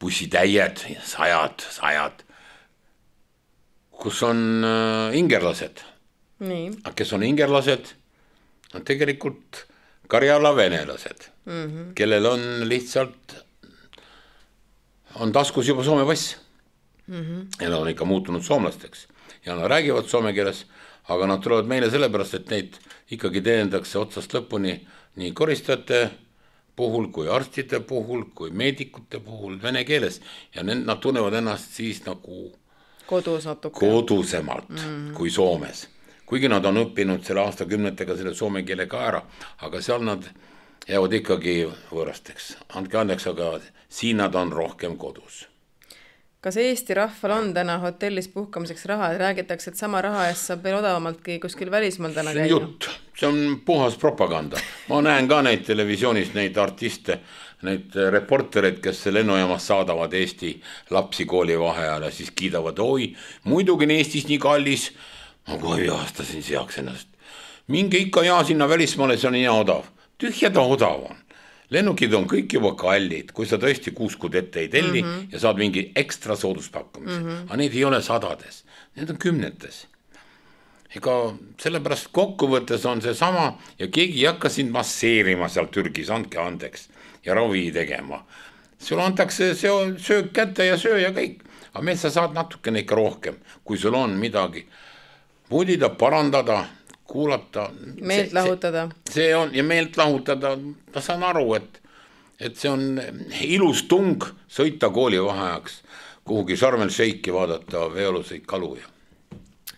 Bussitäied, sajad, sajad, kus on äh, ingerlased. Nii. Kes on ingerlased, on tegelikult Karjala venelased, mm-hmm. kellel on lihtsalt on taskus juba Soome pass mm-hmm. ja nad on ikka muutunud soomlasteks ja nad räägivad soome keeles, aga nad tulevad meile sellepärast, et neid ikkagi teenindakse otsast lõpuni nii koristajate puhul kui arstide puhul kui meedikute puhul vene keeles ja nad tunnevad ennast siis nagu kodus natuke. Kodusemalt mm-hmm. kui Soomes, kuigi nad on õppinud selle aastakümnetega selle soome keele ka ära, aga seal nad jäävad ikkagi võõrasteks. Andke andeks, aga siin nad on rohkem kodus. Kas Eesti rahval on täna hotellis puhkamiseks raha, et räägitakse, et sama raha eest saab veel odavamaltki kuskil välismaal täna käia? See on jutt, see on puhas propaganda. Ma näen ka neid televisioonis, neid artiste, neid reportereid, kes lennujaamas saadavad Eesti lapsi kooli vaheajal ja siis kiidavad, oi, muidugi on Eestis nii kallis. Ma kohe aastasin seaks ennast. Minge ikka ja sinna välismaale, see on nii odav. Tühja ta odav on. Lennukid on kõik juba kallid, kui sa tõesti kuus kuud ette ei telli mm -hmm. ja saad mingi ekstra sooduspakkumise. Mm -hmm. Aga need ei ole sadades, need on kümnetes. Ega sellepärast kokkuvõttes on see sama ja keegi ei hakka sind masseerima seal Türgis, andke andeks ja ravi tegema. Sul antakse söök kätte ja söö ja kõik. Aga meil sa saad natukene ikka rohkem, kui sul on midagi voodida, parandada, kuulata. Meelt lahutada. See, see on, ja meelt lahutada, ma saan aru, et, et see on ilus tung sõita kooli vaheajaks, kuhugi Sarmel Sheiki vaadata veeoluseid kaluja.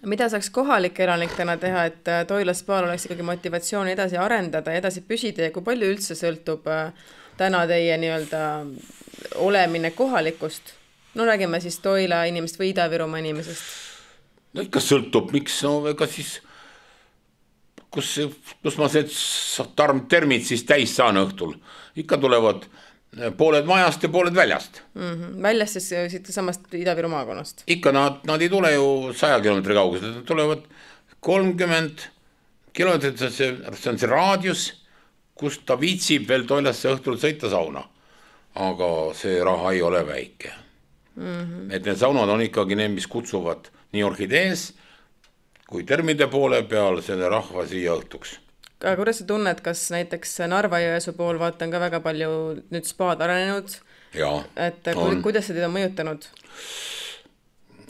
Mida saaks kohalik elanik täna teha, et Toila spaal oleks ikkagi motivatsiooni edasi arendada ja edasi püsida ja kui palju üldse sõltub täna teie nii-öelda olemine kohalikust? No räägime siis Toila inimest või Ida-Virumaa inimesest. No ikka sõltub, miks, no ega siis kus, kus ma see termid siis täis saan õhtul. Ikka tulevad pooled majast ja pooled väljast. Mm-hmm. Väljast siis siit samast Ida-Viru maakonnast? Ikka nad, nad ei tule ju saja kilomeetri kaugused, nad tulevad kolmkümmend kilomeetrit, see, see on see raadius, kus ta viitsib veel Toilasse õhtul sõita sauna. Aga see raha ei ole väike. Mm-hmm. Et need saunad on ikkagi need, mis kutsuvad nii orhidees kui termide poole peal selle rahva siia õhtuks. Aga kuidas sa tunned, kas näiteks Narva-Jõesuu pool vaatan ka väga palju nüüd spaad arenenud? Jaa. Et on. Kuidas see teid on mõjutanud?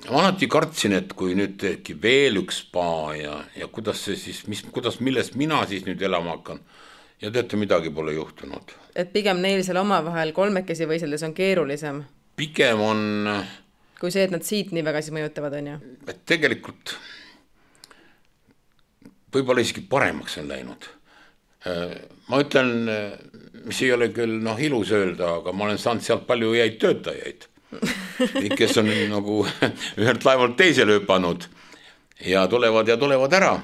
Ma alati kartsin, et kui nüüd tehki veel üks spa ja, ja kuidas see siis, mis, kuidas, millest mina siis nüüd elama hakkan ja teate, midagi pole juhtunud. Et pigem neil seal omavahel kolmekesi võiseldes on keerulisem? Pigem on... Kui see, et nad siit nii väga siis mõjutavad, on ju? Et tegelikult võib-olla isegi paremaks on läinud. Ma ütlen, mis ei ole küll noh, ilus öelda, aga ma olen saanud sealt palju jäid töötajaid. kes on nagu ühelt laevalt teisele hüpanud ja tulevad ja tulevad ära.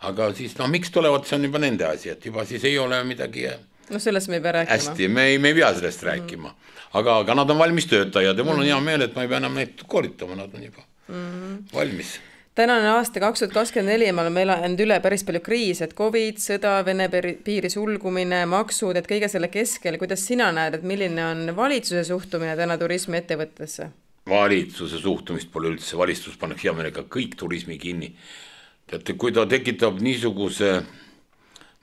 Aga siis, no miks tulevad, see on juba nende asi, et juba siis ei ole midagi no sellest me ei pea rääkima. Hästi, me ei, me ei pea sellest mm. rääkima. Aga, aga nad on valmis töötajad ja mul on hea meel, et ma ei pea enam neid koolitama, nad on juba mm. valmis. Tänane aasta kaks tuhat kakskümmend neli me oleme elanud üle päris palju kriis, et Covid, sõda, Vene piiri sulgumine, maksud, et kõige selle keskel, kuidas sina näed, et milline on valitsuse suhtumine täna turismi ettevõttesse? Valitsuse suhtumist pole üldse, valitsus pannakse hea meelega kõik turismi kinni. Teate, kui ta tekitab niisuguse,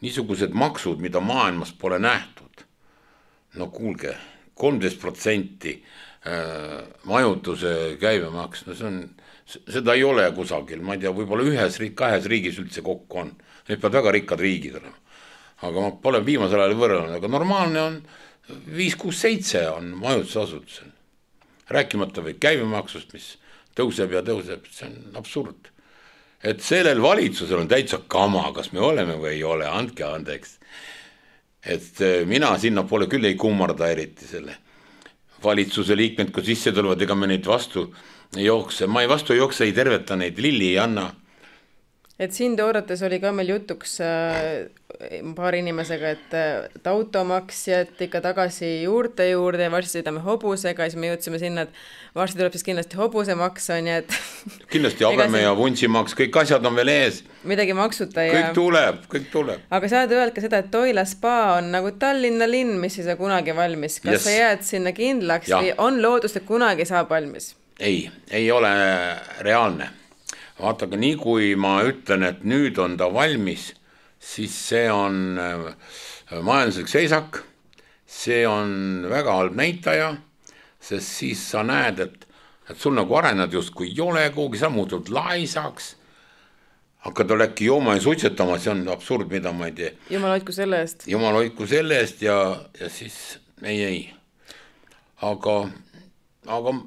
niisugused maksud, mida maailmas pole nähtud, no kuulge, kolmteist protsenti majutuse käibemaks, no see on, seda ei ole kusagil, ma ei tea, võib-olla ühes riik, kahes riigis üldse kokku on. Need peavad väga rikkad riigid olema. Aga ma pole viimasel ajal võrrelnud, aga normaalne on viis kuus seitse on majutusasutusel. Rääkimata või käibemaksust, mis tõuseb ja tõuseb, see on absurd. Et sellel valitsusel on täitsa kama, kas me oleme või ei ole, andke andeks. Et mina sinna pole küll ei kummarda eriti selle valitsuse liikmed, kui sisse tulevad, ega me neid vastu jookse. Ma ei vastu jookse, ei terveta neid, Lilli ei anna. Et siin toorates oli ka meil jutuks paar inimesega, et, et automaksjad ikka tagasi juurte juurde ja varsti sõidame hobusega ja siis me jõudsime sinna, et varsti tuleb siis kindlasti hobusemaks on ja et kindlasti habeme ja vuntsimaks, kõik asjad on veel ees. Midagi maksuta ja kõik tuleb, kõik tuleb. Aga sa oled öelnud ka seda, et Toila spa on nagu Tallinna linn, mis ei saa kunagi valmis. Kas yes. sa jääd sinna kindlaks ja. Või on loodust, et kunagi saab valmis? Ei, ei ole reaalne. Vaataga, nii kui ma ütlen, et nüüd on ta valmis, siis see on majanduslik seisak, see on väga halb näitaja, sest siis sa näed, et, et sul nagu arened just kui ei ole kuhugi, sa muutud laisaks, hakkad äkki jooma ja suitsetama, see on absurd, mida ma ei tee. Jumal hoidku selle eest. Jumal hoidku selle eest ja, ja siis ei, ei. Aga, aga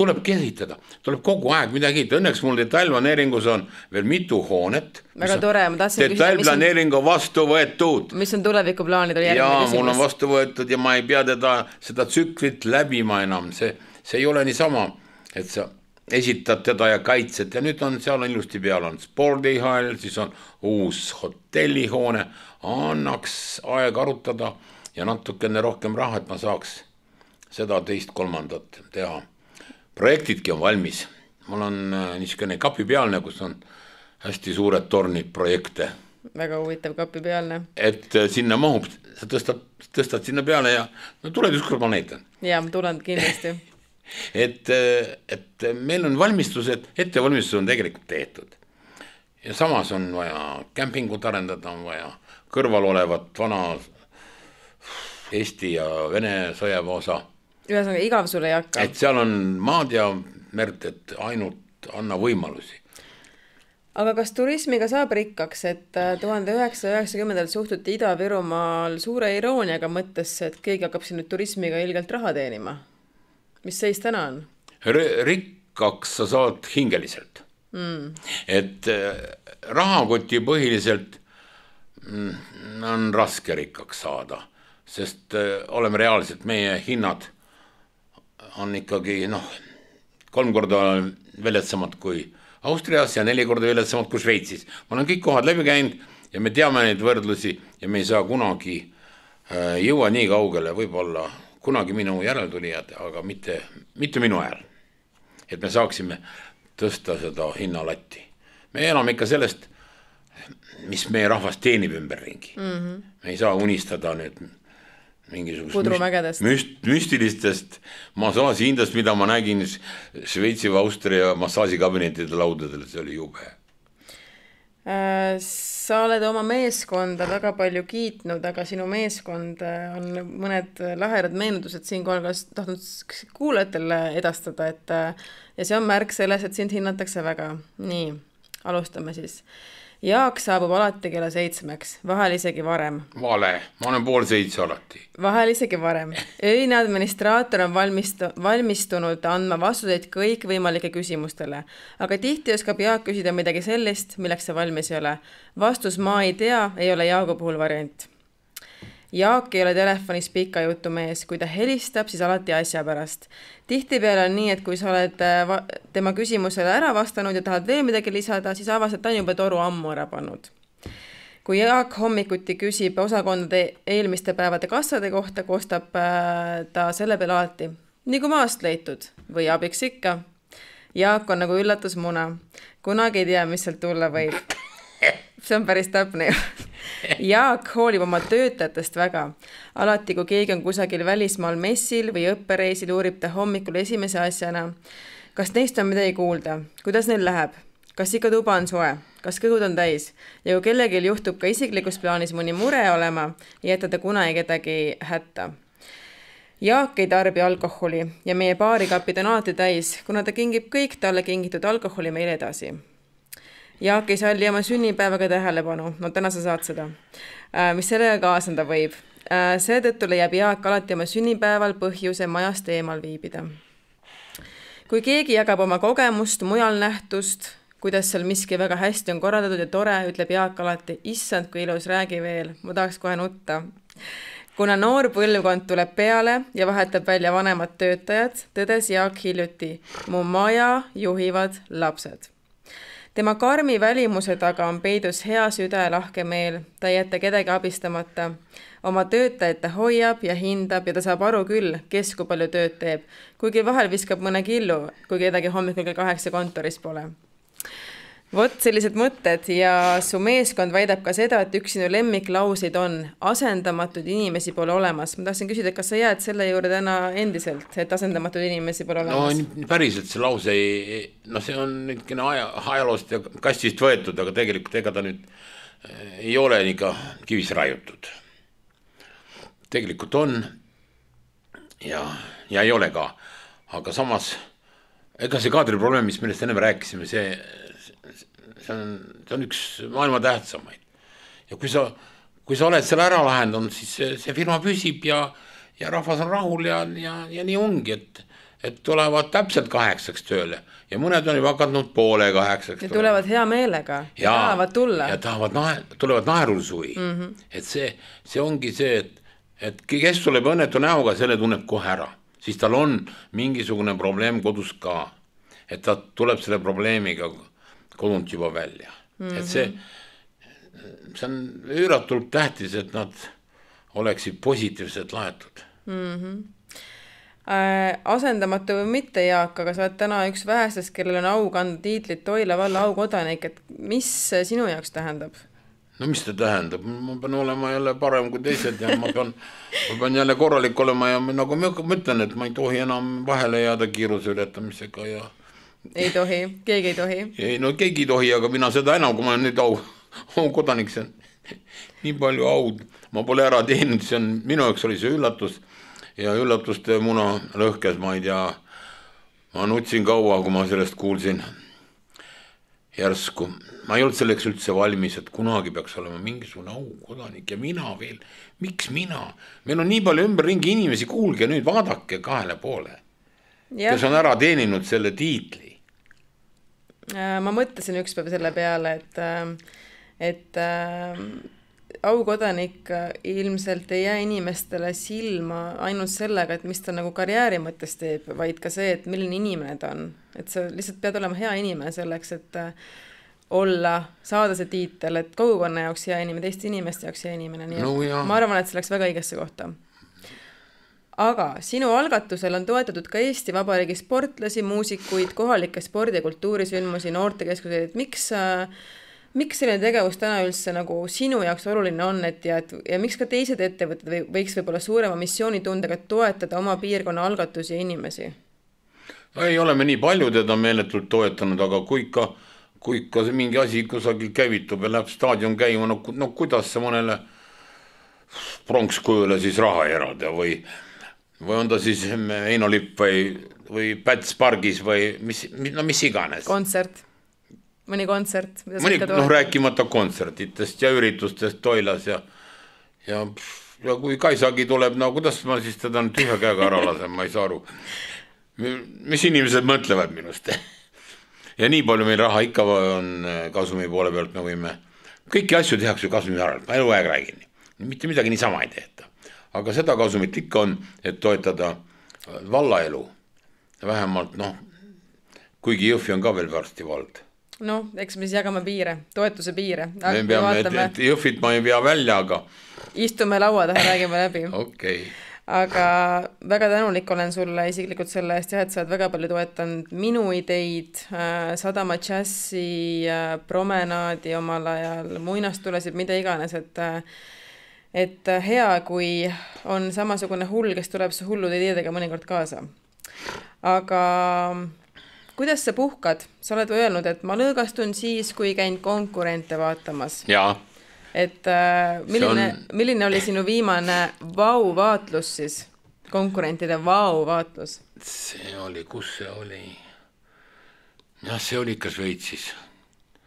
tulebki esitada, tuleb kogu aeg midagi, õnneks mul detailplaneeringus on veel mitu hoonet. Väga tore, ma tahtsin küsida, detailplaneering on vastu võetud. Mis on tulevikuplaanid? Ja mul on vastu võetud ja ma ei pea teda seda tsüklit läbima enam, see, see ei ole nii sama, et sa esitad teda ja kaitsed ja nüüd on seal on ilusti peal on spordihall, siis on uus hotellihoone, annaks aeg arutada ja natukene rohkem raha, et ma saaks seda teist kolmandat teha. Projektidki on valmis. Mul on niisugune kapipealne, kus on hästi suured tornid projekte. Väga huvitav kapipealne. Et sinna mahub, sa tõstad, tõstad sinna peale ja no tuled ükskord ma näitan. Ja, ma tulen kindlasti. et, et meil on valmistused, ettevalmistused on tegelikult tehtud. Ja samas on vaja kämpingut arendada, on vaja kõrval olevat vana Eesti ja Vene sõjaväe osa. Ühesõnaga, igav sulle ei hakka. Et seal on maad ja merd, et ainult anna võimalusi. Aga kas turismiga saab rikkaks, et tuhande üheksasaja üheksakümnendal suhtuti Ida-Virumaal suure irooniaga mõttesse, et keegi hakkab siin nüüd turismiga ilgelt raha teenima? Mis seis täna on? Rikkaks sa saad hingeliselt. Mm. Et rahakoti põhiliselt on raske rikkaks saada, sest oleme reaalselt meie hinnad on ikkagi noh, kolm korda veletsamad kui Austrias ja neli korda veletsamad kui Šveitsis. Ma olen kõik kohad läbi käinud ja me teame neid võrdlusi ja me ei saa kunagi äh, jõua nii kaugele, võib-olla kunagi minu järeltulijad, aga mitte, mitte minu ajal. Et me saaksime tõsta seda hinnalatti. Me elame ikka sellest, mis meie rahvas teenib ümberringi. Mm-hmm. Me ei saa unistada nüüd mingisugust müst, müstilistest massaaži hindast, mida ma nägin Šveitsi või Austria massaažikabinetide laudadel, see oli jube. Sa oled oma meeskonda väga palju kiitnud, aga sinu meeskond on mõned lahedad meenutused siin kohal tahtnud kuulajatele edastada, et ja see on märk selles, et sind hinnatakse väga. Nii, alustame siis. Jaak saabub alati kella seitsmeks, vahel isegi varem. Vale, ma olen pool seitse alati. Vahel isegi varem. Öine administraator on valmistu, valmistunud andma vastuseid kõik võimalike küsimustele, aga tihti oskab Jaak küsida midagi sellist, milleks see valmis ei ole. Vastus ma ei tea, ei ole Jaagu puhul variant. Jaak ei ole telefonis pika jutu mees, kui ta helistab, siis alati asja pärast. Tihtipeale on nii, et kui sa oled tema küsimusele ära vastanud ja tahad veel midagi lisada, siis avastad, ta on juba toru ammu ära pannud. Kui Jaak hommikuti küsib osakondade eelmiste päevade kassade kohta, koostab ta selle peale alati. Nii kui maast leitud või abiks ikka. Jaak on nagu üllatusmuna. Kunagi ei tea, mis sealt tulla võib. See on päris täpne. Jaak hoolib oma töötajatest väga. Alati, kui keegi on kusagil välismaal messil või õppereisil, uurib ta hommikul esimese asjana. Kas neist on midagi kuulda? Kuidas neil läheb? Kas ikka tuba on soe? Kas kõhud on täis? Ja kui kellegil juhtub ka isiklikus plaanis mõni mure olema, ei jäta ta kunagi kedagi hätta. Jaak ei tarbi alkoholi ja meie baarikapid on alati täis, kuna ta kingib kõik talle kingitud alkoholi meile edasi. Jaak ei salli oma sünnipäevaga tähelepanu, no täna sa saad seda, mis sellega kaasanda võib. Seetõttu leiab Jaak alati oma sünnipäeval põhjuse majast eemal viibida. Kui keegi jagab oma kogemust, mujal nähtust, kuidas seal miski väga hästi on korraldatud ja tore, ütleb Jaak alati, issand, kui ilus, räägi veel, ma tahaks kohe nutta. Kuna noor põlvkond tuleb peale ja vahetab välja vanemad töötajad, tõdes Jaak hiljuti, mu maja juhivad lapsed. Tema karmi välimuse taga on peidus hea süda ja lahke meel, ta ei jätta kedagi abistamata. Oma töötajad ta hoiab ja hindab ja ta saab aru küll, kes kui palju tööd teeb, kuigi vahel viskab mõne killu, kui kedagi hommikul kell kaheksa kontoris pole. Vot sellised mõtted ja su meeskond väidab ka seda, et üks sinu lemmiklauseid on asendamatud inimesi pole olemas. Ma tahtsin küsida, kas sa jääd selle juurde täna endiselt, et asendamatud inimesi pole olemas? No päriselt see lause ei, no see on nüüd aja, ajaloost ja kastist võetud, aga tegelikult ega ta nüüd ei ole ikka kivis raiutud. Tegelikult on ja, ja ei ole ka, aga samas ega see kaadri probleem, mis millest enne rääkisime, see See on, see on üks maailma tähtsamaid. Ja kui sa, kui sa oled selle ära lahendanud, siis see, see firma püsib ja, ja rahvas on rahul ja, ja, ja nii ongi, et, et tulevad täpselt kaheksaks tööle ja mõned on juba hakanud poole kaheksaks. Ja tulevad hea meelega ja, ja tahavad tulla. Ja tahavad nae, tulevad naerulsuvi. Mm-hmm. Et see, see ongi see, et, et kes tuleb õnnetu näoga, selle tunneb kohe ära. Siis tal on mingisugune probleem kodus ka. Et ta tuleb selle probleemiga kodunt juba välja. Mm-hmm. Et see, see on üüratult tähtis, et nad oleksid positiivselt laetud. Mm-hmm. Äh, asendamatu või mitte, Jaak, aga sa oled täna üks vähestest, kellel on au kanda tiitlit Toila valla aukodanik, et mis sinu jaoks tähendab? No mis ta tähendab? Ma pean olema jälle parem kui teised ja ma pean, ma pean jälle korralik olema ja nagu ma mõtlen, et ma ei tohi enam vahele jääda kiiruse ületamisega ja ei tohi, keegi ei tohi. Ei, no keegi ei tohi, aga mina seda enam, kui ma olen nüüd au, au kodanik, see on nii palju aud. Ma pole ära teeninud, see on, minu jaoks oli see üllatus ja üllatuste muna lõhkes, ma ei tea, ma nutsin kaua, kui ma sellest kuulsin järsku. Ma ei olnud selleks üldse valmis, et kunagi peaks olema mingisugune au kodanik ja mina veel. Miks mina? Meil on nii palju ümberringi inimesi, kuulge nüüd, vaadake kahele poole, ja. Kes on ära teeninud selle tiitli. Ma mõtlesin üks päev selle peale, et, et aukodanik ilmselt ei jää inimestele silma ainult sellega, et mis ta nagu karjääri mõttes teeb, vaid ka see, et milline inimene ta on. Et sa lihtsalt pead olema hea inimene selleks, et olla, saada see tiitel, et kogukonna jaoks hea inimene, teiste inimeste jaoks hea inimene. Nii, no, ma arvan, et see läks väga õigesse kohta. Aga sinu algatusel on toetatud ka Eesti Vabariigi sportlasi, muusikuid, kohalikke spordi- ja kultuurisündmusi, noortekeskuseid, et miks, miks selline tegevus täna üldse nagu sinu jaoks oluline on, et ja, et, ja miks ka teised ettevõtted võiks võib-olla suurema missioonitundega toetada oma piirkonna algatusi ja inimesi? Ei oleme nii palju teda meeletult toetanud, aga kui ikka, kui ikka mingi asi kusagil käivitub ja läheb staadion käima, no, no kuidas see mõnele pronkskujule siis raha erada või või on ta siis Eino Lipp või, või Päts pargis või mis, no mis iganes. Kontsert, mõni kontsert. Mõni, noh, rääkimata kontsertitest ja üritustest Toilas ja, ja, ja kui Kaisagi tuleb, no kuidas ma siis teda nüüd ühe käega ära lasen, ma ei saa aru. Mis inimesed mõtlevad minust? Ja nii palju meil raha ikka on kasumi poole pealt, me võime, kõiki asju tehakse kasumi arvelt, ma elu aeg räägin. Mitte midagi niisama ei tehta. aga seda kasumit ikka on, et toetada vallaelu. Vähemalt, noh, kuigi Jõhvi on ka veel varsti vald. No, eks me siis jagame piire, toetuse piire. Me peame, et, et Jõhvit ma ei pea välja, aga... Istume laua taha, räägime läbi. Okei. Okay. Aga väga tänulik olen sulle isiklikult selle eest, et sa oled väga palju toetanud minu ideid, Sadama Jazzi, promenaadi omal ajal, muinastulesid, mida iganes, et, et hea, kui on samasugune hull, kes tuleb su hullud ideedega mõnikord kaasa. Aga kuidas sa puhkad? Sa oled öelnud, et ma lõõgastun siis, kui käin konkurente vaatamas. Jaa. Et milline, on... milline oli sinu viimane vau-vaatlus siis? Konkurentide vau-vaatlus? See oli, kus see oli? Jah, see oli ikka Šveitsis.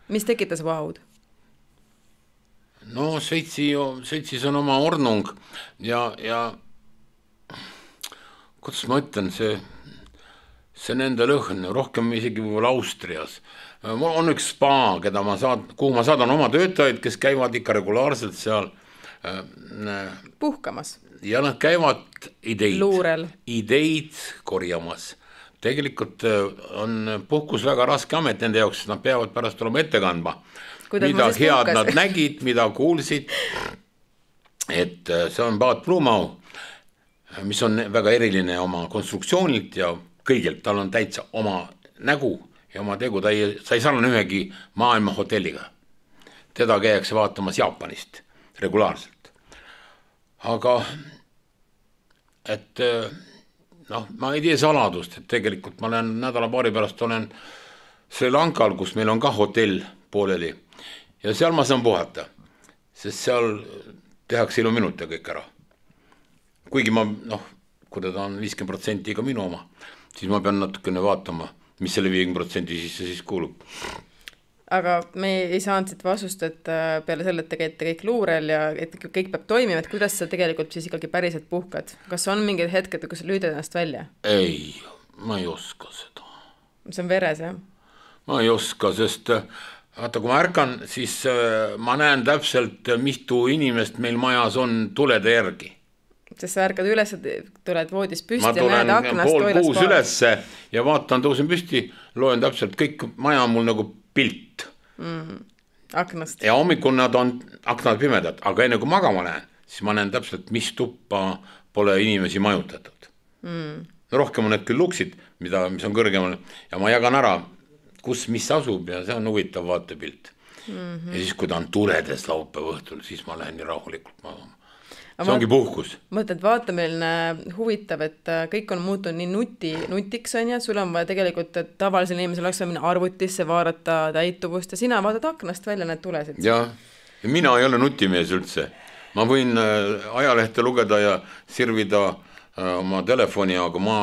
Mis tekitas vaud? No Šveitsi, Šveitsis on oma ornung ja, ja kuidas ma ütlen, see, see nende lõhn, rohkem isegi võib-olla Austrias. Mul on üks spa, keda ma saad, kuhu ma saadan oma töötajaid, kes käivad ikka regulaarselt seal äh, puhkamas. Ja nad käivad ideid, Luurel. ideid korjamas. Tegelikult on puhkus väga raske amet nende jaoks, sest nad peavad pärast olema ette kandma. Kuidas mida head puhkas? Nad nägid, mida kuulsid. Et see on Paat Blumau, mis on väga eriline oma konstruktsioonilt ja kõigelt, tal on täitsa oma nägu ja oma tegu, ta ei, sa ei sarnane ühegi maailma hotelliga. Teda käiakse vaatamas Jaapanist regulaarselt. Aga, et noh, ma ei tea saladust, et tegelikult ma olen nädala paari pärast olen Sri Lankal, kus meil on ka hotell pooleli ja seal ma saan puhata, sest seal tehakse ilu minuta kõik ära. Kuigi ma, noh, kui ta on viiskümmend protsenti ka minu oma, siis ma pean natukene vaatama, mis selle viiekümne protsendi sisse siis kuulub. Aga me ei saanud siit vastust, et peale selle, et te käite kõik luurel ja et kõik peab toimima, et kuidas sa tegelikult siis ikkagi päriselt puhkad? Kas on mingid hetked, kus sa lüüdad ennast välja? Ei, ma ei oska seda. See on veres, jah? Ma ei oska, sest vaata, kui ma ärkan, siis ma näen täpselt, mitu inimest meil majas on tulede järgi. Sest sa ärkad üles, tuled voodis püsti ma ja näed aknast pool kuus ülesse ja vaatan, tõusen püsti, loen täpselt kõik, maja on mul nagu pilt. Mm, aknast. Ja hommikul nad on aknad pimedad, aga enne kui magama näen, siis ma näen täpselt, mis tuppa pole inimesi majutatud. Mm. Rohkem on need küll luksid, mida, mis on kõrgemal ja ma jagan ära, kus mis asub ja see on huvitav vaatepilt. Mm-hmm. Ja siis, kui ta on tuledes laupäeva õhtul, siis ma lähen nii rahulikult magama. See ongi puhkus. Mõtled, vaata meilne huvitav, et kõik on muutunud nii nuti, nutiks on ja sul on vaja tegelikult, et tavalisel inimesel oleks minna arvutisse, vaadata täituvust ja sina vaatad aknast välja need tulesid. Ja, ja mina ei ole nutimees üldse. Ma võin ajalehte lugeda ja sirvida oma telefoni, aga ma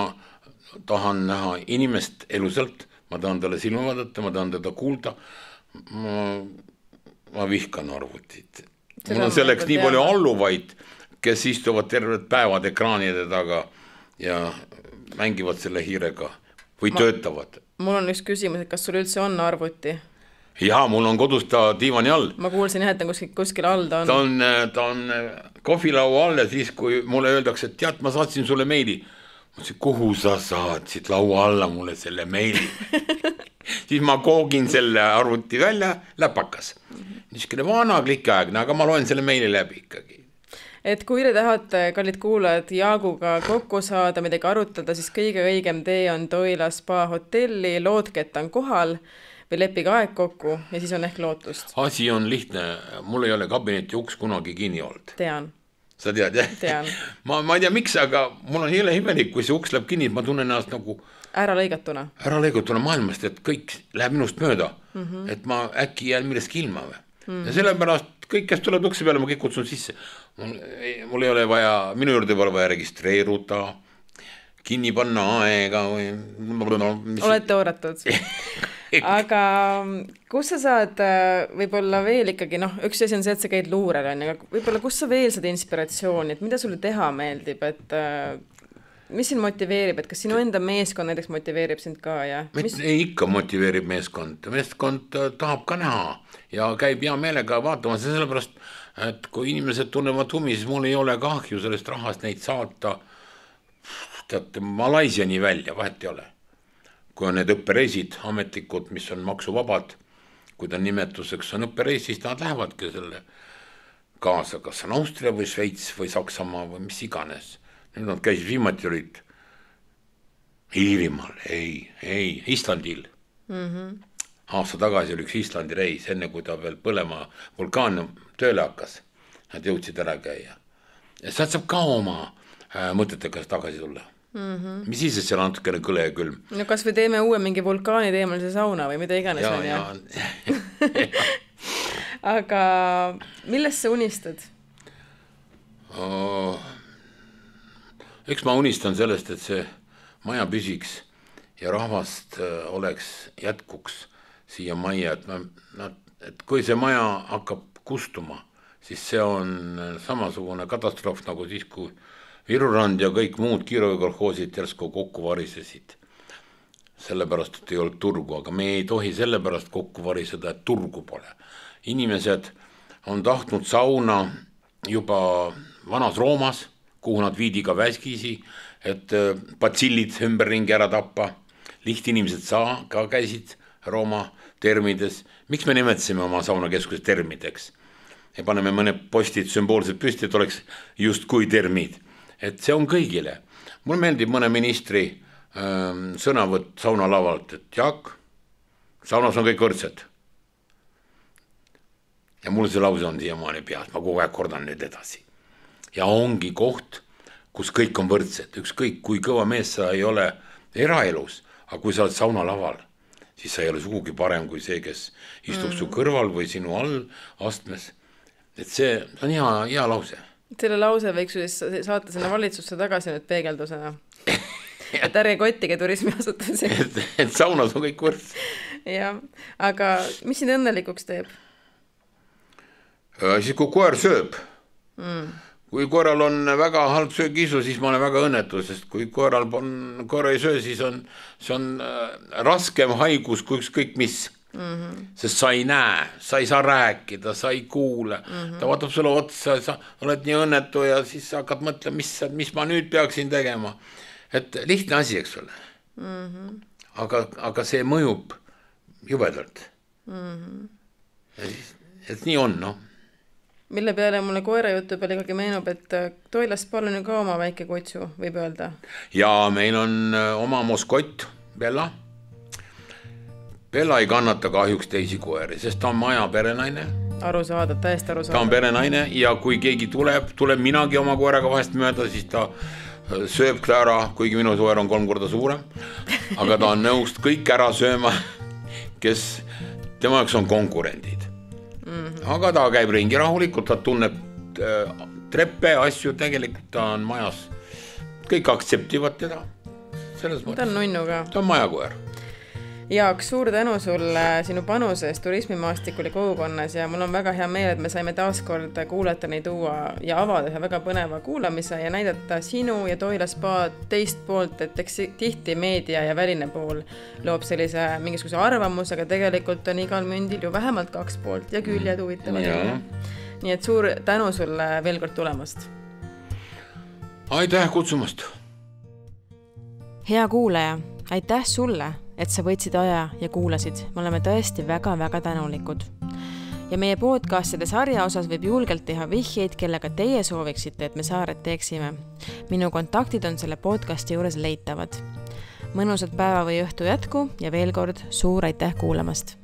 tahan näha inimest elusalt, ma tahan talle silma vaadata, ma tahan teda kuulda, ma, ma vihkan arvutit. Mul on selleks nii palju alluvaid, kes istuvad terved päevad ekraanide taga ja mängivad selle hiirega või ma, töötavad. Mul on üks küsimus, et kas sul üldse on arvuti? Jaa, mul on kodus ta diivani all. Ma kuulsin jah, et kuskil, kuskil all ta on. Ta on, ta on kohvilaua all ja siis, kui mulle öeldakse, et tead, ma saatsin sulle meili. Ma ütlesin, kuhu sa saatsid laua alla mulle selle meili? Siis ma koogin selle arvuti välja, läpakas. Niisugune vana klikaegne, aga ma loen selle meili läbi ikkagi. Et kui te tahate, kallid kuulajad, Jaaguga kokku saada, midagi arutada, siis kõige õigem tee on Toila spa hotelli, loodke, et on kohal või lepige aeg kokku ja siis on ehk lootust. Asi on lihtne, mul ei ole kabineti uks kunagi kinni olnud. Tean. Sa tead, jah? Tean. Ma, ma ei tea, miks, aga mul on hiile imelik, kui see uks läheb kinni, ma tunnen ennast nagu ära lõigatuna. Ära lõigatuna maailmast, et kõik läheb minust mööda, mm-hmm. et ma äkki jään millestki ilma või. Mm-hmm. Ja sellepärast kõik, kes tuleb ukse peale, ma kõik kutsun sisse. Mul, mul ei ole vaja, minu juurde pole vaja registreeruda, kinni panna aega või... Mis... Olete ooratud. Aga kus sa saad võib-olla veel ikkagi, noh, üks asi on see, et sa käid luurel, on, aga võib-olla kus sa veel saad inspiratsiooni, et mida sulle teha meeldib, et mis sind motiveerib, et kas sinu enda meeskond näiteks motiveerib sind ka? Ja? Mis... Ikka motiveerib meeskond, meeskond tahab ka näha ja käib hea meelega vaatama, sellepärast et kui inimesed tunnevad huvi, siis mul ei ole kahju sellest rahast neid saata teate Malaisiani välja, vahet ei ole. Kui on need õppereisid, ametlikud, mis on maksuvabad, kui ta nimetuseks on õppereis, siis nad lähevadki selle kaasa, kas on Austria või Šveits või Saksamaa või mis iganes. Nüüd nad käisid viimati olid Iirimaal, ei, ei, Islandil. Mm-hmm. Aasta tagasi oli üks Islandi reis, enne kui ta veel põlema vulkaan tööle hakkas. Nad jõudsid ära käia. Ja sealt saab ka oma äh, mõtetega tagasi tulla. Mm-hmm. Mis siis, et seal on natukene kõle ja külm? No kas või teeme uue mingi vulkaani teemalise sauna või mida iganes ja, on ja, ja. Aga millest sa unistad? Oh, eks ma unistan sellest, et see maja püsiks ja rahvast oleks jätkuks siia maja, et, ma, et kui see maja hakkab kustuma, siis see on samasugune katastroof nagu siis, kui Virurand ja kõik muud kiirovekolhoosid järsku kokku varisesid. Sellepärast, et ei olnud turgu, aga me ei tohi sellepärast kokku variseda, et turgu pole. Inimesed on tahtnud sauna juba vanas Roomas, kuhu nad viidi ka väskisi, et patsillid ümberringi ära tappa. Lihtinimesed saa ka käisid Rooma termides. Miks me nimetasime oma saunakeskuses termideks? Ja paneme mõne postid sümboolselt püsti, et oleks just kui termid. Et see on kõigile. Mul meeldib mõne ministri ähm, sõnavõtt sauna lavalt, et Jaak, saunas on kõik võrdsed. Ja mul see lause on siiamaani peas, ma kogu aeg kordan nüüd edasi. Ja ongi koht, kus kõik on võrdsed, ükskõik kui kõva mees sa ei ole eraelus, aga kui sa oled sauna laval, siis sa ei ole sugugi parem kui see, kes istub mm. su kõrval või sinu all astmes. Et see on hea, hea lause. Selle lause võiks siis saata sinna valitsusse tagasi nüüd peegeldusena. Et ärge kottige turismiasutusi. et, et saunas on kõik võrds. Ja, aga mis sind õnnelikuks teeb? Siis kui koer sööb. Mm. Kui koeral on väga halb söögiisu, siis ma olen väga õnnetu, sest kui koeral on, koer ei söö, siis on, see on raskem haigus kui ükskõik mis. Mm-hmm. Sest sa ei näe, sa ei saa rääkida, sa ei kuule, mm-hmm. ta vaatab sulle otsa, sa oled nii õnnetu ja siis sa hakkad mõtlema, mis, mis ma nüüd peaksin tegema. Et lihtne asi, eks ole. Mm-hmm. Aga, aga see mõjub jubedalt. Mm-hmm. Et, et nii on, noh. Mille peale mulle koera jutu peale ikkagi meenub, et Toilast palun ju ka oma väike kutsu, võib öelda. Ja meil on oma moskott, Bella. Bella ei kannata kahjuks teisi koeri, sest ta on maja perenaine. Aru saada, täiesti aru saada. Ta on perenaine ja kui keegi tuleb, tuleb minagi oma koeraga vahest mööda, siis ta sööb ära, kuigi minu koer on kolm korda suurem. Aga ta on nõust kõik ära sööma, kes tema jaoks on konkurendid. Mm-hmm. Aga ta käib ringi rahulikult, ta tunneb treppe, asju, tegelikult ta on majas. Kõik aktseptivad teda. Selles ta on nunnu ka. Ta on majakoer. Jaak, suur tänu sulle sinu panusest turismimaastikul ja kogukonnas ja mul on väga hea meel, et me saime taaskord kuulajateni tuua ja avada ühe väga põneva kuulamise ja näidata sinu ja Toila spa teist poolt, et eks tihti meedia ja väline pool loob sellise mingisuguse arvamus, aga tegelikult on igal mündil ju vähemalt kaks poolt ja küljed huvitavad. Ja. Nii et suur tänu sulle veel kord tulemast. Aitäh kutsumast. Hea kuulaja, aitäh sulle, et sa võtsid aja ja kuulasid. Me oleme tõesti väga-väga tänulikud. Ja meie podcastide sarja osas võib julgelt teha vihjeid, kellega teie sooviksite, et me saared teeksime. Minu kontaktid on selle podcasti juures leitavad. Mõnusat päeva või õhtu jätku ja veel kord suur aitäh kuulamast.